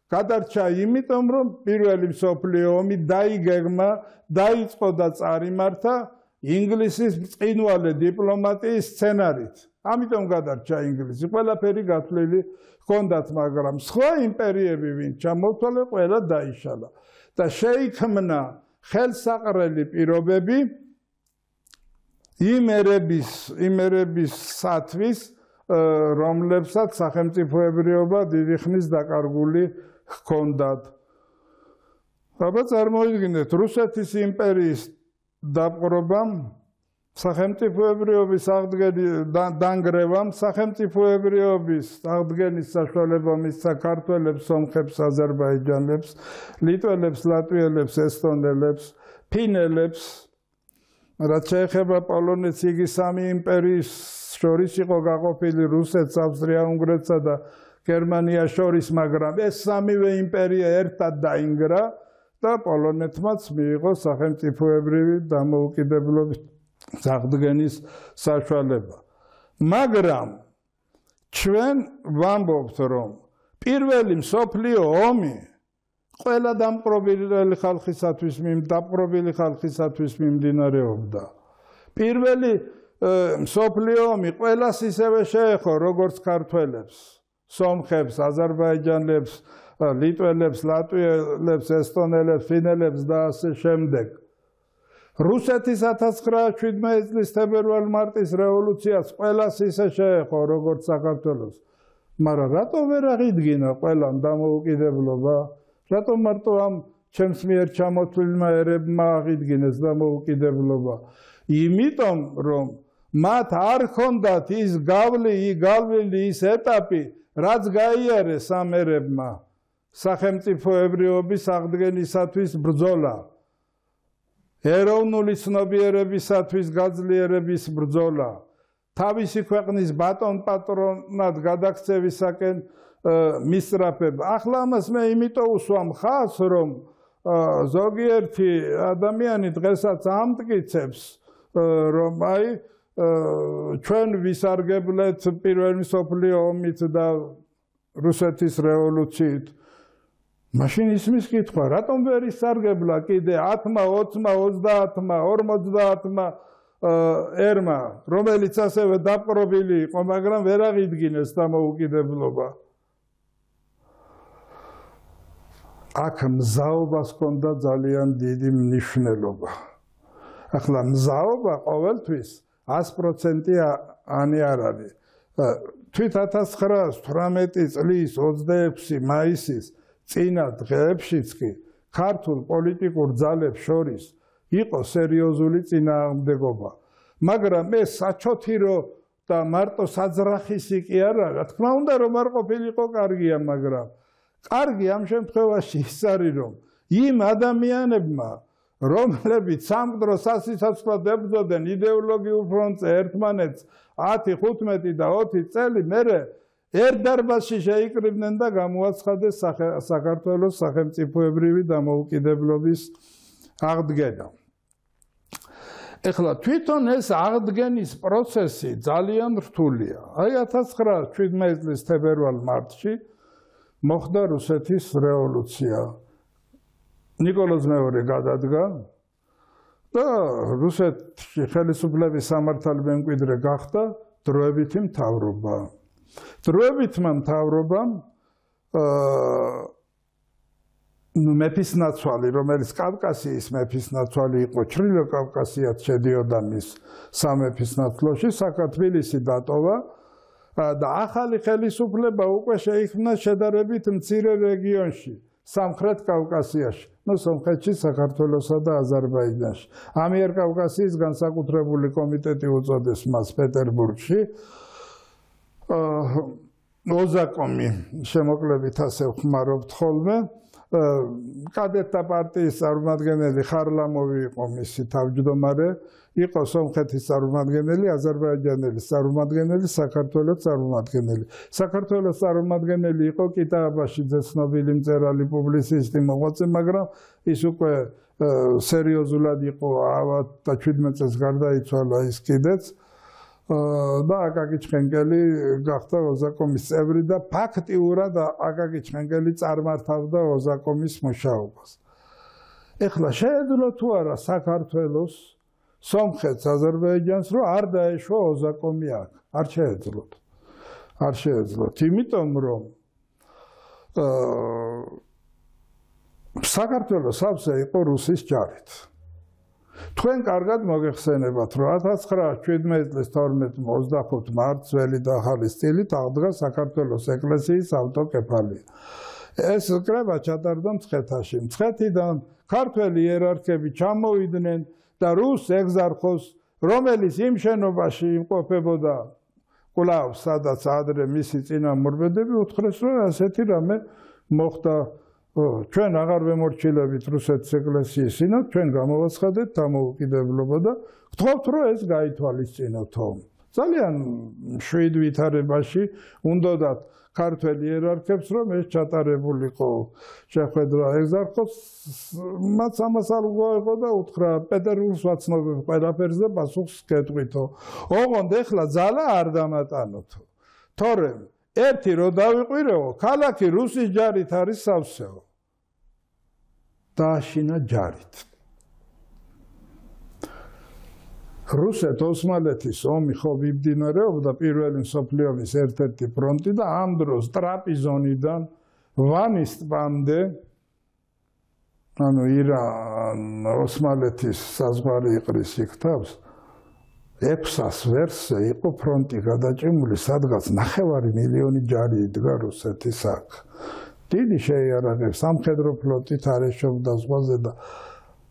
S1: გადარჩა იმიტომ, რომ პირველი მსოფლიო ომი დაიგეგმა, დაიწყო და წარიმართა ინგლისის ბრწყინვალე დიპლომატიის სცენარით. ამიტომ გადარჩა ინგლისი. ყველაფერი გათვლილი ჰქონდათ, მაგრამ სხვა იმპერიები ვინ ჩამოთვალე, ყველა დაიშალა. და შეიქმნა ხელსაყრელი პირობები იმ ერების, იმ ერებისათვის, რომლებსაც სახელმწიფოებრიობა დიდი ხნის დაკარგული ჰქონდათ. აბა წარმოიდგინეთ, რუსეთის იმპერიის დაპყრობამ, სახელმწიფოებრიობის დანგრევამ, სახელმწიფოებრიობის აღდგენის საშუალება მისცა ქართველებს, სომხებს, აზერბაიჯანელებს, ლიტველებს, ლატვიელებს, ესტონელებს, ფინელებს, რაც შეეხება პოლონეთს, იგი სამი იმპერიის შორის იყო გაყოფილი რუსეთს, ავსტრია-უნგრეთსა და გერმანიას შორის, მაგრამ ეს სამივე იმპერია ერთად დაინგრა და პოლონეთმაც მიიღო სახელმწიფოებრივი დამოუკიდებლობის აღდგენის საშუალება. მაგრამ ჩვენ ვამბობთ, რომ პირველი მსოფლიო ომი ყველა დამპყრობილი ხალხისათვის დამპყრობილი ხალხისათვის მიმდინარეობდა. პირველი მსოფლიო ომი ყველას ისევე შეეხო, როგორც ქართველებს, სომხებს, აზერბაიჯანელებს, ლიტველებს, ლატვიელებს, ესტონელებს, ფინელებს და ასე შემდეგ. რუსეთის ათას ცხრაას შვიდმეტი წლის თებერვალ-მარტის რევოლუციას ყველას ისე შეეხო, როგორც საქართველოს. მაგრამ რატო ვერ აღიდგინა ყველამ დამოუკიდებლობა? რატომ მარტო ამ ჩემს მიერ ჩამოთვლილმა ერებმა აღიდგინეს დამოუკიდებლობა? იმიტომ, რომ მათ არ ჰქონდათ ის გავლილი, გავლილი ის ეტაპი, რაც გაიარეს ამ ერებმა სახელმწიფოებრიობის აღდგენისათვის ბრძოლა. ეროვნული ცნობიერებისათვის გაძლიერების ბრძოლა, თავისი ქვეყნის ბატონ პატრონად გადაქცევისაკენ მისწრაფება. ახლა ამას მე იმიტომ უსვამ ხაზს, რომ ზოგიერთი ადამიანი დღესაც ამტკიცებს, რომ აი ჩვენ ვისარგებლეთ პირველი მსოფლიო ომით და რუსეთის რევოლუციით. მაშინ ისმის კითხვა, რატომ ვერ ისარგებლა კიდე ათმა, ოცმა, ოცდაათმა, ორმოცდაათმა ერმა, რომელიც ასევე დაპყრობილი იყო, მაგრამ ვერ აღიდგინეს დამოუკიდებლობა. აქ მზაობას ჰქონდა ძალიან დიდი მნიშვნელობა. ახლა მზაობა ყოველთვის ას პროცენტი ანი არ არის. თვით ათას ცხრაას თვრამეტი წლის ოცდაექვსი მაისის წინა დღეებშიც კი ქართულ პოლიტიკურ ძალებს შორის იყო სერიოზული წინააღმდეგობა. მაგრამ ეს საჩოთირო და მარტო საძრახისი კი არა, რა თქმა უნდა რომ არ ყოფილიყო კარგია, მაგრამ კარგი ამ შემთხვევაში ის არის, რომ იმ ადამიანებმა, რომლებიც სამყარო სასიცოცხლოდ ებრძოდნენ იდეოლოგიურ ფრონტზე ერთმანეთს ათი, ხუთმეტი და ოცი წელი, მერე ერთ დარბაზში შეიკრიბნენ და გამოაცხადეს საქართველოს სახელმწიფოებრივი დამოუკიდებლობის აღდგენა. ეხლა თვითონ ეს აღდგენის პროცესი ძალიან რთულია. აი ათას ცხრაას შვიდმეტი წლის თებერვალ-მარტში მოხდა რუსეთის რევოლუცია. ნიკოლოზ მეორე გადადგა და რუსეთში ხელისუფლების სამართალი მემკვიდრე გახდა დროებითი მთავრობა. დროებითმა მთავრობამ მეფისნაცვალი, რომელიც კავკასიის მეფისნაცვალი იყო, ჩრდილო კავკასიაც შედიოდა მის სამეფისნაცვლოში, საქართველოსი დატოვა და ახალი ხელისუფლება უკვე შეიქმნა შედარებით მცირე რეგიონში, სამხრეთ კავკასიაში, ну სომხეთში, საქართველოსა და აზერბაიჯანში. ამიერკავკასიის განსაკუთრებული კომიტეტი უწოდეს მას პეტერბურგში. ოზაკომი შემოკლებით ასე ვხმარობთ ხოლმე. კადეტთა პარტიის წარმომადგენელი ხარლამოვი იყო მისი თავმჯდომარე, იყო სომხეთის წარმომადგენელი, აზერბაიჯანელის წარმომადგენელი, საქართველოს წარმომადგენელი. საქართველოს წარმომადგენელი იყო კიტაბაშიძე, ცნობილი მწერალი, პუბლიცისტი, მოღვაწე, მაგრამ ის უკვე სერიოზულად იყო ავად და შვიდმეტ წელს გარდაიცვალა ის კიდეც. და აკაკი ჩხენკელი გახდა ოზაკომის წევრი და ფაქტიურად აკაკი ჩხენკელი წარმართავდა ოზაკომის მუშაობას. ეხლა შეეძლო თუ არა საქართველოს, სომხეთს, აზერბაიჯანს, რომ არ დაეშვა ოზაკომი აქ? არ შეეძლოთ. არ შეეძლოთ, იმიტომ რომ საქართველოს სავსე იყო რუსის ჯარით. თქვენ კარგად მოგეხსენებათ, რომ ათას ცხრაას შვიდმეტი წლის თორმეტი ოცდახუთი მარტს ძველი და ახალი სტილით აღდგა საქართველოს ეკლესიის ავტოკეფალია. ეს კრება ჩატარდა მცხეთაში. მცხეთიდან ქართველი იერარქები ჩამოვიდნენ და რუს ეგზარხოს, რომელიც იმ შენობაში იმყოფებოდა კვლავ, სადაც ადრე მისი წინამორბედები, უთხრეს, რომ ასეთი რამე მოხდა. ჩვენ აღარ ვემორჩილებით რუსეთის ეკლესიის სინოდ, ჩვენ გამოვაცხადეთ დამოუკიდებლობა და ვთხოვთ, რომ ეს გაითვალისწინოთ. ძალიან შვიდ ვითარებაში უნდათ ქართველ იერარქებს, რომ ეს ჩატარებულიყო შეხვედრა ეგზარხოს, მათ ამას არ უღვეყო და უთხრა, პეტერბურგს ვაცნობებ ყველაფერს და პასუხს გეტყვითო. ოღონდ ეხლა ძალა არ დამატანოთო. თორემ ერთი რო დავიყვირეო, ქალაქი რუსის ჯარით არის სავსეო. დააშინა ჯარით. რუსეთ-ოსმალეთის ომი ხო მიმდინარეობდა პირველი მსოფლიო ომის ერთ-ერთი ფრონტი და ამ დროს ტრაპიზონიდან ვანის ტბამდე, ანუ ირან-ოსმალეთის საზღვარი იყრის იქ თავს, ექვსას ვერსზე იყო ფრონტი გადაჭიმული, სადღაც ნახევარი მილიონი ჯარი იდგა რუსეთის აქ. დიდი შეიარაღების სამხედრო ფლოტით არ ეშობდა ზღვაზე და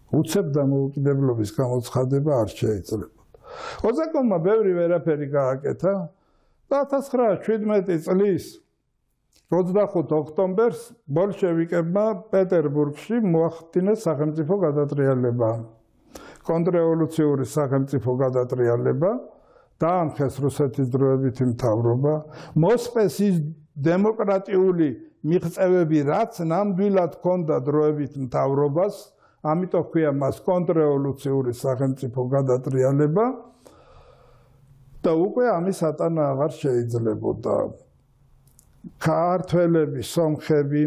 S1: უცებ დამოუკიდებლობის გამოცხადება არ შეიძლებოდა. ოზაკომმა ბევრი ვერაფერი გააკეთა და ათას ცხრაას შვიდმეტი წლის ოცდახუთი ოქტომბერს ბოლშევიკებმა პეტერბურგში მოახდინეს სახელმწიფო გადატრიალება. კონტრრევოლუციური სახელმწიფო გადატრიალება, დაამხეს რუსეთის დროებითი მთავრობა, მოსპეს ის დემოკრატიული მიღწევები, რაც ნამდვილად ჰქონდა დროებით მთავრობას, ამიტომ ქვია მას კონტრრევოლუციური სახელმწიფო გადატრიალება და უკვე ამის ატანა აღარ შეიძლებოდა. ქართველები, სომხები,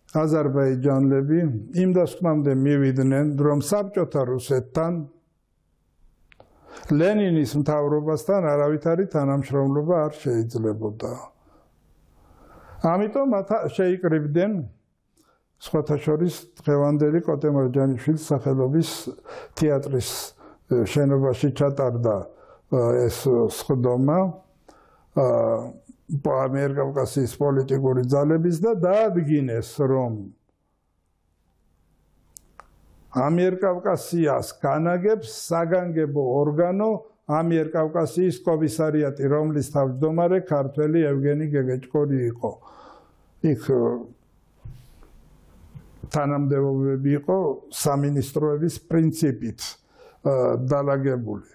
S1: აზერბაიჯანელები იმ დასკვნამდე მივიდნენ, რომ საბჭოთა რუსეთთან ლენინის მთავრობასთან არავითარი თანამშრომლობა არ შეიძლებოდა. ამიტომ შეიკრიბდნენ სხვათა შორის დღევანდელი კოტე მარჯანიშვილის სახელობის თეატრის შენობაში ჩატარდა ეს სხდომა ამიერკავკასიის პოლიტიკური ძალების და დაადგინეს, რომ ამიერკავკასიას განაგებს საგანგებო ორგანო ამიერკავკასიის კომისარიატი, რომლის თავმჯდომარე ქართველი ევგენი გეგეჭკორი იყო. იქ თანამდებობები იყო სამინისტროების პრინციპით დალაგებული.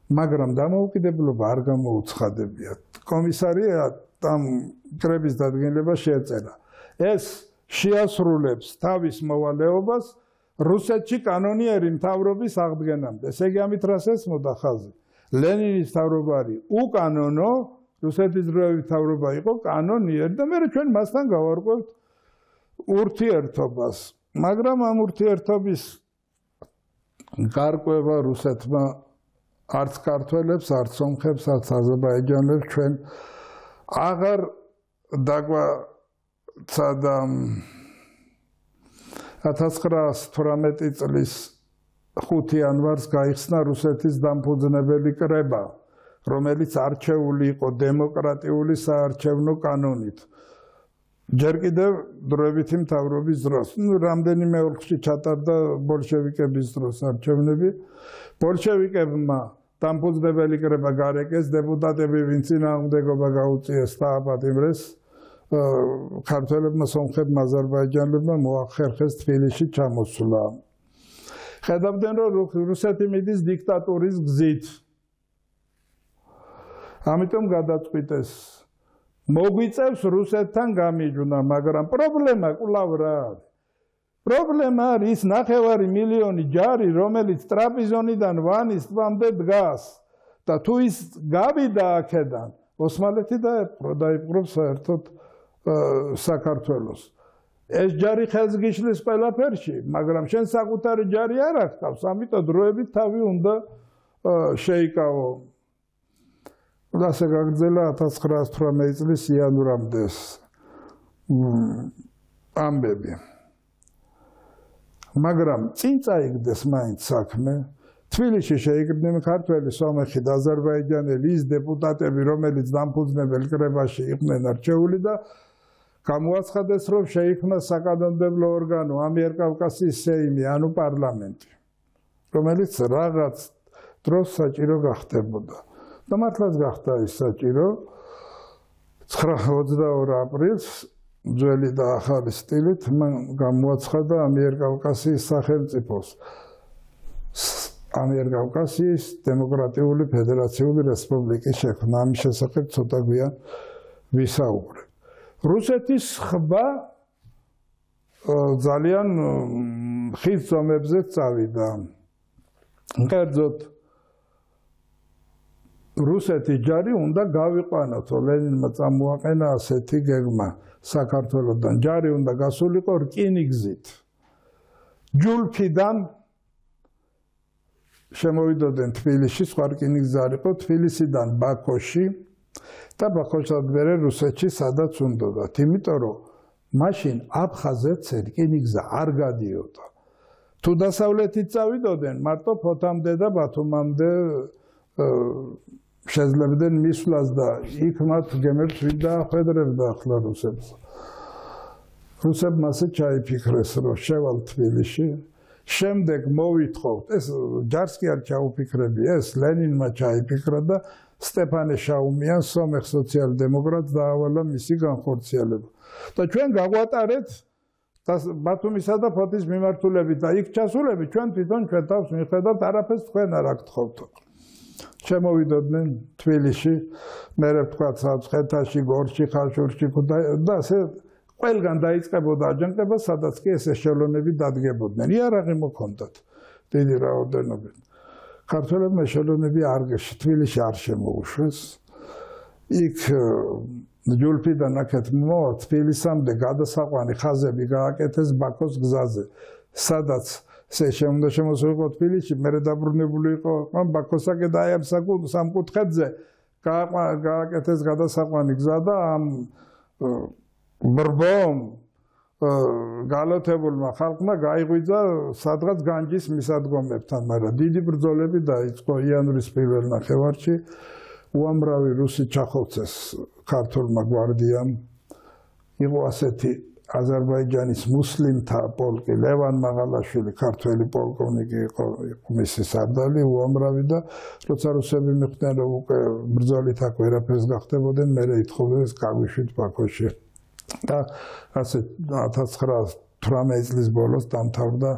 S1: მაგრამ დამოუკიდებლობა არ გამოუცხადებიათ. კომისარიატ ამ კრების დადგენილება შეეწერა. ეს შეასრულებს თავის მოვალეობას რუსეთში კანონიერი მთავრობის აღდგენამდე. ესე იგი ამით რას ესმოდა ხაზი? ლენინის მთავრობა არის უკანონო, რუსეთის დროებითი მთავრობა იყო კანონიერი და მე ჩვენ მასთან გავარკვევთ ურთიერთობას. მაგრამ ამ ურთიერთობის გარკვევა რუსეთმა არც ქართველებს, არც სომხებს, არც აზერბაიჯანელებს ჩვენ აღარ დაგვაცადა ათას ცხრაასი თვრამეტი წლის ხუთი იანვარს გაიხსნა რუსეთის დამფუძნებელი კრება, რომელიც არჩეული იყო დემოკრატიული საარჩევნო კანონით. ჯერ კიდევ დროებითი მთავრობის დროს, ნუ რამდენიმე ოლქში ჩატარდა ბოლშევიკების დროს არჩევნები. ბოლშევიკებმა დამფუძნებელი კრება გარეკეს, დეპუტატები ვინც წინააღმდეგობა გაუწიეს დააპატიმრეს, ქართველებმა, სომხებმა, აზერბაიჯანელებმა მოახერხეს თბილისში ჩამოსვლა. ხედავდნენ, რომ რუსეთი მიდის დიქტატურის გზით. ამიტომ გადაწყვიტეს მოგვიწევს რუსეთთან გამიჯვნა, მაგრამ პრობლემა კვლავ რა არის? პრობლემა არის ნახევარი მილიონი ჯარი, რომელიც ტრაპიზონიდან ვანის ტბამდე დგას და თუ ის გავიდა აქედან, ოსმალეთი დაეპყრო, დაიპყრობს საერთოდ საქართველოს. ეს ჯარი ხელს გიშლის ყველაფერში, მაგრამ შენ საკუთარი ჯარი არ აღწევს, ამიტომ დროებით თავი უნდა შეიკავო. ასე გაგრძელა ათას ცხრაასი თვრამეტი წლის იანვრამდე ამბები. მაგრამ წინ წაიგდეს მაინც საქმე. თბილისში შეიკრიბნენ ქართველი, სომეხი და აზერბაიჯანელი ის დეპუტატები, რომელიც დამფუძნებელ კრებაში იყვნენ არჩეული და გამოაცხადეს, რომ შეიქმნა საკანონმდებლო ორგანო ამიერკავკასიის სეიმი, ანუ პარლამენტი, რომელიც რაღაც დროს საჭირო გახდებოდა. და მართლაც გახდა ის საჭირო. ოცდაორი აპრილს ძველი და ახალი სტილით მან გამოაცხადა ამიერკავკასიის სახელმწიფოს ამიერკავკასიის დემოკრატიული ფედერაციული რესპუბლიკის შექმნა. ამის შესახებ ცოტა გვიან ვისაუბრებ. რუსეთის ხბა ძალიან ხის ზომებზე წავიდა. კერძოდ რუსეთის ჯარი უნდა გავიყვანოთ, ლენინმა წამოაყენა ასეთი გეგმა საქართველოსთან. ჯარი უნდა გასულიყო რკინიგზით. ჯულფიდან შემოვიდოდნენ თბილისში, სხვა რკინიგზა არ იყო, თბილისიდან ბაქოში და ბაქოსთან მერე რუსეთში სადაც უნდოდათ. იმიტომ რომ მაშინ აფხაზეთს რკინიგზა არ გადიოდა. თუ დასავლეთით წავიდოდნენ, მარტო ფოთამდე და ბათუმამდე შეძლებდნენ მისვლას და იქ მათ გემებს ვინ დაახვედრებდა ახლა რუსებს. რუსებმა ასე ჩაიფიქრეს, რომ შევალ თბილისში, შემდეგ მოვითხოვთ, ეს ჯარს კი არ ჩაუფიქრები, ეს ლენინმა ჩაიფიქრა და სტეფანე შაუმიან, სომეხ სოციალ-დემოკრატს დაავალა მისი განხორციელება. და ჩვენ გაგვატარეთ ბათუმისა და ფოთის მიმართულებით და იქ ჩასულები ჩვენ თვითონ ჩვენ თავს მიხედავთ არაფერს თქვენ არ აგთხოვთ. შემოვიდოდნენ თბილისში, მერე ვთქვათ საცხეთაში, გორში, ხაშურში და ასე ყველგან დაიწყებოდა აჯანყება, სადაც კი ეს ეშელონები დადგებოდნენ. იარაღი მოქონდათ დიდი რაოდენობით. ქართველებმა ეშელონები არ თბილისში არ შემოუშვეს. იქ ჯულფიდან აქეთ მოვა თბილისამდე გადასაყვანი ხაზები გააკეთეს ბაქოს გზაზე, სადაც ესე შემოდა შემოსულიყო თბილისში, მერე დაბრუნებული იყო ბაქოსაკე და აი ამ სამკუთხედზე გააკეთეს გადასაყვანი გზა და ამ ბრბომ გალათებულმა ხალხმა გაიღვიძა სადღაც განჯის მისადგომებთან, მაგრამ დიდი ბრძოლები დაიწყო იანვრის პირველ ნახევარში. უამრავი რუსი ჩახოვცეს ქართულმა გვარდიამ. იყო ასეთი აზერბაიჯანის მუსლიმთა პოლკი, ლევან მაღალაშვილი, ქართველი პოლკოვნიკი იყო, მისი სარდალი უამრავი და როცა რუსები მიხვდნენ, რომ უკვე ბრძოლით აქ ვერაფერს გახდებოდნენ, მერე ითხოვეს გაგვიშვით ბაქოში. და ასე ათას ცხრაას თვრამეტი წლის ბოლოს დამთავრდა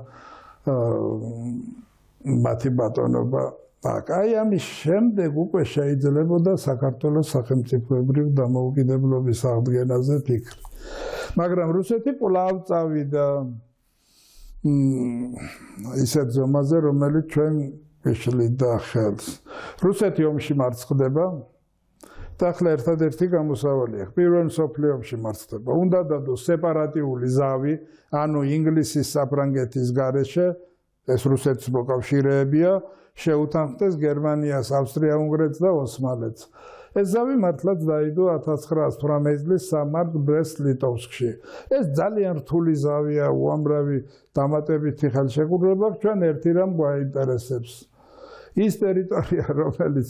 S1: მათი ბატონობა. აი ამის შემდეგ უკვე შეიძლებოდა საქართველოს სახელმწიფოებრივ დამოუკიდებლობის აღდგენაზე ფიქრი. მაგრამ რუსეთი კვლავ წავიდა ისეთ ზომაზე, რომელიც ჩვენ ეშლიდა ხელს. რუსეთი ომში მარცხდება და ახლა ერთადერთი გამოსავალია. პირველ მსოფლიო ომში მარცხდება. უნდა დადოს სეპარატიული ზავი, ანუ ინგლისის საფრანგეთის გარეშე, ეს რუსეთის მოკავშირეებია, შეუთანხმდეს გერმანიას, ავსტრია-უნგრეთს და ოსმალეთს. ეს ზავი მართლაც დაიდო ათას ცხრაას თვრამეტი წლის სამართ ბრესტ-ლიტოვსკში. ეს ძალიან რთული ზავია, უამრავი დამატებითი ხელშეკრულება, ჩვენ ერთი რამ გვაინტერესებს. ის ტერიტორია, რომელიც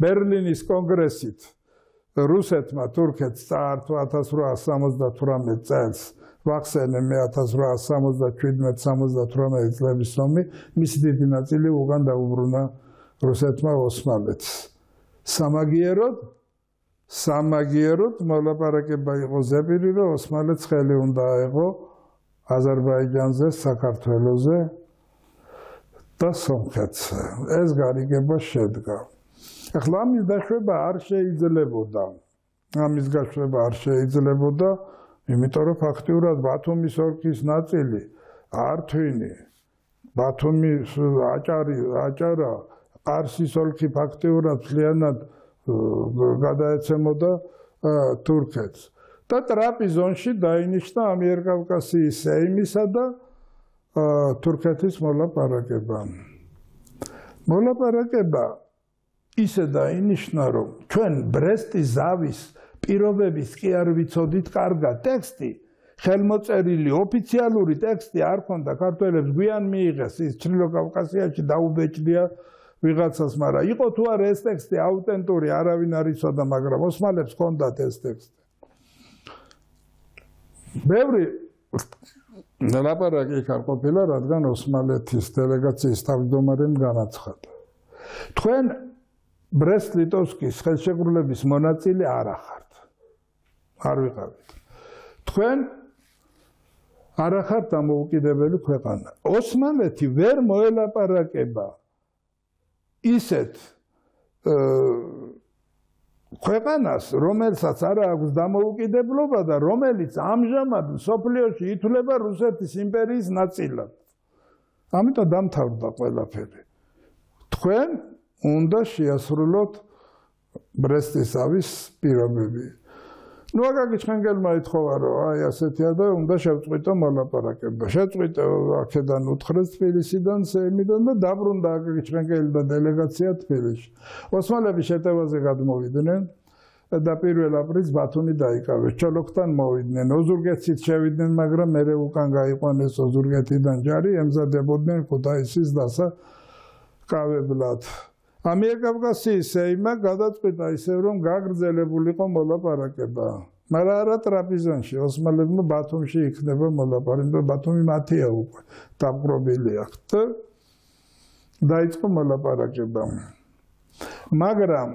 S1: ბერლინის კონგრესით რუსეთმა თურქეთს წაართვა ათას რვაას სამოცდათვრამეტ წელს, ვახსენე მე ათას რვაას სამოცდაშვიდმეტ სამოცდათვრამეტი წლების ომი, მისი დიდი ნაწილი უკან დაუბრუნა რუსეთმა ოსმალეთს. სამაგიეროდ, სამაგიეროდ მოლაპარაკება იყო ზეპირი, რომ ოსმალეთს ხელი უნდა აეღო აზერბაიჯანზე, საქართველოზე და სომხეთზე. ეს გარიგება შედგა. ახლა ამის დაშვება არ შეიძლებოდა. ამის გაშვება არ შეიძლებოდა, იმიტომ რომ ფაქტიურად ბათუმის ოლქის ნაწილი, ართვინი, ბათუმის აჭარი, აჭარა, ყარსის ოლქი ფაქტიურად მთლიანად გადაეცემოდა თურქეთს. და ტრაპიზონში დაინიშნა ამიერკავკასიის სეიმისა და თურქეთის მოლაპარაკება. მოლაპარაკება ისე დაინიშნა, რომ ჩვენ ბრესტის ზავის პირობების კი არ ვიცოდით კარგად. ტექსტი, ხელმოწერილი ოფიციალური ტექსტი არ ქონდა ქართველებს, გვიან მიიღეს ის ჩრდილო კავკასიაში დაუბეჭდია ვიღაცას, მაგრამ იყო თუ არა ეს ტექსტი აუთენტური, არავინ არ იცოდა, მაგრამ ოსმალებს ჰქონდათ ეს ტექსტი. ბევრი ლაპარაკი არ ყოფილა, რადგან ოსმალეთის დელეგაციის თავმჯდომარემ განაცხადა. თქვენ ბრესტ-ლიტოვსკის ხელშეკრულების მონაწილე არ ახართ. არ ვიყავით. თქვენ არ ახართ დამოუკიდებელი ქვეყანა. ოსმალეთი ვერ მოელაპარაკება ისეთ ქვეყანას, რომელსაც არ აქვს დამოუკიდებლობა და რომელიც ამჟამად მსოფლიოში ითვლება რუსეთის იმპერიის ნაწილად. ამიტომ დამთავრდა ყველაფერი. თქვენ უნდა შეასრულოთ ბრესტის ზავის პირობები. ნუ აკაკი ჩხენგელმა ითხოვა, რომ აი ასეთია და უნდა შევწყვიტო მოლაპარაკება. შეწყვიტე აქედან უთხრეს თბილისიდან, სეიმიდან და დაბრუნდა აკაკი ჩხენგელი და დელეგაცია თბილისში. ოსმალები შეტევაზე გადმოვიდნენ და პირველ აპრილს ბათუმი დაიკავეს. ჩოლოქთან მოვიდნენ, ოზურგეთშიც შევიდნენ, მაგრამ მერე უკან გაიყვანეს ოზურგეთიდან ჯარი, ემზადებოდნენ ქუთაისის დასაკავებლად. ამიერკავკასიის სეიმმა გადაწყვიტა ისევ, რომ გაგრძელებულიყო მოლაპარაკება. მაგრამ არა ტრაპიზონში, ოსმალებმა ბათუმში იქნება მოლაპარაკება, ბათუმი მათია უკვე, დამპყრობილი აქვთ და დაიწყო მოლაპარაკება. მაგრამ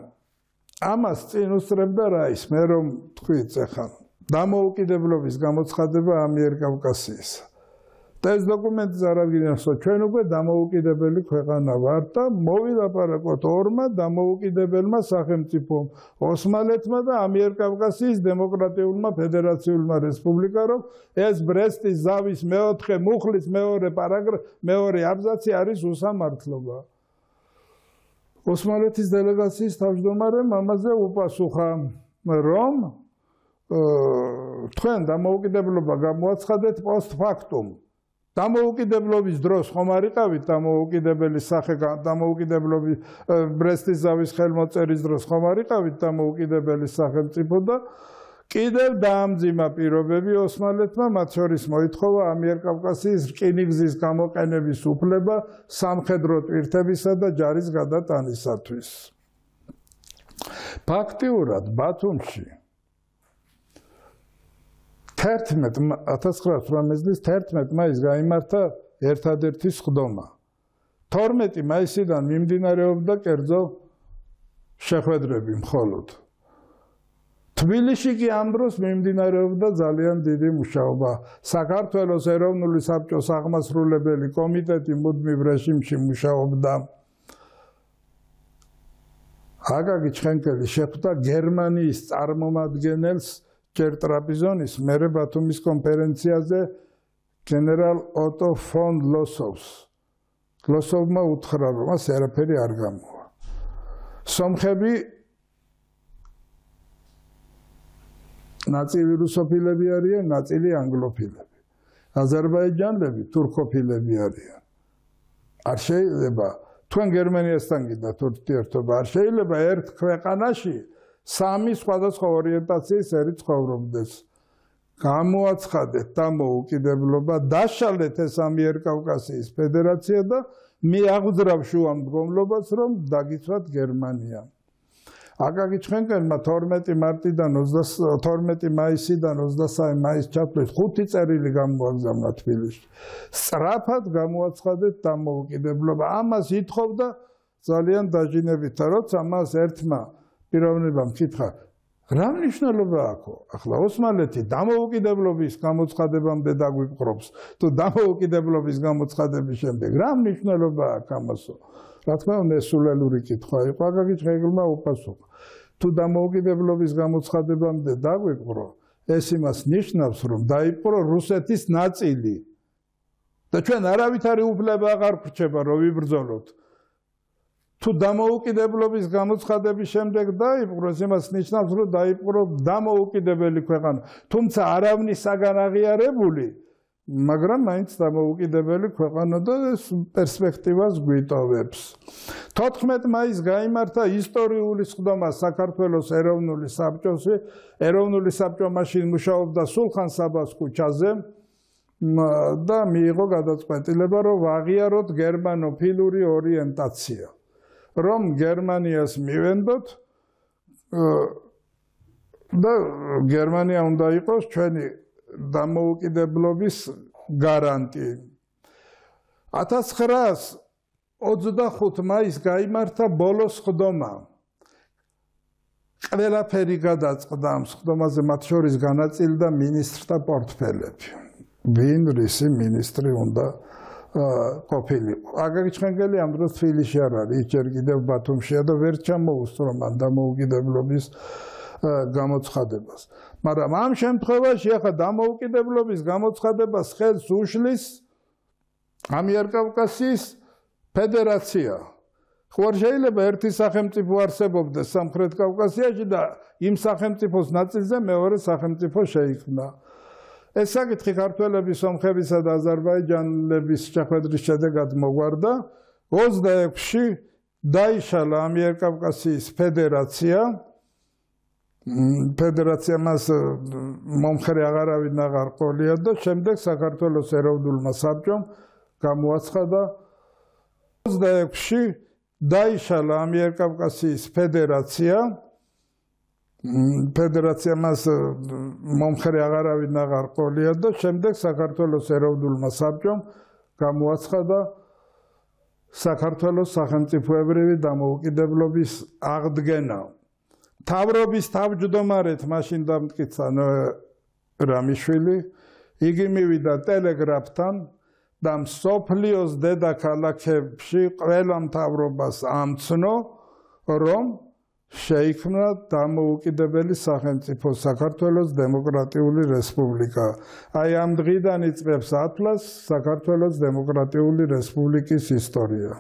S1: ამას წინ უსწრებდა რა ის, მე რომ თქვით ახლა დამოუკიდებლობის გამოცხადება ამიერკავკასიისა. და ეს დოკუმენტი წარადგინეს, ჩვენ უკვე დამოუკიდებელი ქვეყანა ვართ და მოვილაპარაკოთ ორმა დამოუკიდებელმა სახელმწიფომ, ოსმალეთმა და ამიერკავკასიის დემოკრატიულმა ფედერაციულმა რესპუბლიკამ, რომ ეს ბრესტის ზავის მეოთხე მუხლის მეორე პარაგრაფი, მეორე აბზაცი არის უსამართლობა. ოსმალეთის დელეგაციის თავმჯდომარემ ამაზე უპასუხა, რომ თქვენ დამოუკიდებლობა გამოაცხადეთ პოსტფაქტუმ. დამოუკიდებლობის დროს ხომ არ იყავით დამოუკიდებელი სახე დამოუკიდებლობის ბრესტის ზავის ხელმოწერის დროს ხომ არ იყავით დამოუკიდებელი სახელმწიფო და კიდევ დაამძიმა პირობები ოსმალეთმა, მათ შორის მოითხოვა ამიერკავკასიის რკინიგზის გამოყენების უფლება სამხედრო ტვირთებისა და ჯარის გადატანისათვის. ფაქტიურად ბათუმში ათას ცხრაას ოცდაოთხ წლის თერთმეტ მაისს გაიმართა ერთადერთი სხდომა. თორმეტი მაისიდან მიმდინარეობდა კერძო შეხვედრები მხოლოდ. თბილისში კი ამ დროს მიმდინარეობდა ძალიან დიდი მუშაობა. საქართველოს ეროვნული საბჭოს აღმასრულებელი კომიტეტი მუდმივ რეჟიმში მუშაობდა. აკაკი ჩხენკელი შეხვდა გერმანიის წარმომადგენელს ჯერ ტრაპიზონის, მერე ბათუმის კონფერენციაზე გენერალ ოტო ფონ ლოსოვს. ლოსოვმა უთხრა, რომ მას არაფერი არ გამოვა. სომხები ნაწილი რუსოფილები არიან, ნაწილი ანგლოფილები. აზერბაიჯანელები თურქოფილები არიან. არ შეიძლება თქვენ გერმანიასთან გინდათ ურთიერთობა, არ შეიძლება ერთ ქვეყანაში სამი სხვადასხვა ორიენტაციის ერი ცხოვრობდეს. გამოაცხადეთ დამოუკიდებლობა, დაშალეთ ეს ამიერკავკასიის ფედერაცია და მიაღვძრავ შუამდგომლობას, რომ დაგიცვათ გერმანია. აკაკი ჩხენკელმა თორმეტი მარტიდან თორმეტი მაისიდან ოცდასამი მაისს ჩათვლით ხუთი წერილი გამოაგზავნა თბილისში. სწრაფად გამოაცხადეთ დამოუკიდებლობა. ამას ითხოვდა ძალიან დაჟინებით, როცა მას ერთმა პიროვნებამ კითხა, რა მნიშვნელობა აქვს? ახლა ოსმალეთი დამოუკიდებლობის გამოცხადებამდე დაგვიპყრობს, თუ დამოუკიდებლობის გამოცხადების შემდეგ რა მნიშვნელობა აქვს ამასო? რა თქმა უნდა, სულელური კითხვა იყო, აკაკი ჩხენკელმა უპასუხა. თუ დამოუკიდებლობის გამოცხადებამდე დაგვიპყრო, ეს იმას ნიშნავს, რომ დაიპყრო რუსეთის ნაწილი. და ჩვენ არავითარი უფლება აღარ გვრჩება, რომ ვიბრძოლოთ. თუ დამოუკიდებლობის გამოცხადების შემდეგ დაიპყროს, იმას ნიშნავს, რომ დაიპყრო დამოუკიდებელი ქვეყანა. თუმცა არავნის საგან აღიარებული, მაგრამ მაინც დამოუკიდებელი ქვეყანა და ეს პერსპექტივას გვიტოვებს. თოთხმეტ მაისს გაიმართა ისტორიული სხდომა საქართველოს ეროვნული საბჭოში. ეროვნული საბჭო მაშინ მუშაობდა სულხან საბას ქუჩაზე და მიიღო გადაწყვეტილება, რომ აღიაროთ გერმანოფილური ორიენტაცია. რომ გერმანიას მივენდოთ და გერმანია უნდა იყოს ჩვენი დამოუკიდებლობის გარანტი. ათას ცხრაას ოცდახუთ მაისს გაიმართა ბოლო სხდომა. ყველაფერი გადაწყდა ამ სხდომაზე, მათ შორის განაწილდა მინისტრთა პორტფელები. ვინ რისი მინისტრი უნდა ყოფილიყო. აკაკი ჩხენკელი ამ დროს თბილისში არ არის, ის ჯერ კიდევ ბათუმშია და ვერ ჩამოუსწრო მან დამოუკიდებლობის გამოცხადებას. მაგრამ ამ შემთხვევაში ახლა დამოუკიდებლობის გამოცხადებას ხელს უშლის ამიერკავკასიის ფედერაცია. ხო არ შეიძლება ერთი სახელმწიფო არსებობდეს სამხრეთ კავკასიაში და იმ სახელმწიფოს ნაწილზე მეორე სახელმწიფო შეიქმნა. ეს საკითხი ქართველების, სომხებისა და აზერბაიჯანელების შეხვედრის შედეგად მოგვარდა. ოცდაექვსში დაიშალა ამიერკავკასიის ფედერაცია. ფედერაცია მას მომხრე აღარავინ აღარ ყოლია და შემდეგ საქართველოს ეროვნულმა საბჭომ გამოაცხადა ოცდაექვსში დაიშალა ამიერკავკასიის ფედერაცია. ფედერაცია მას მომხრე აღარავინ აღარ ყოლია და შემდეგ საქართველოს ეროვნულმა საბჭომ გამოაცხადა საქართველოს სახელმწიფოებრივი დამოუკიდებლობის აღდგენა. მთავრობის თავმჯდომარედ მაშინ დამტკიცა რამიშვილი, იგი მივიდა ტელეგრაფთან და მსოფლიოს დედაქალაქებში ყველა მთავრობას ამცნო, რომ შეიქმნა დამოუკიდებელი სახელმწიფო საქართველოს დემოკრატიული რესპუბლიკა. აი ამ დღიდან იწყებს ათლას საქართველოს დემოკრატიული რესპუბლიკის ისტორია.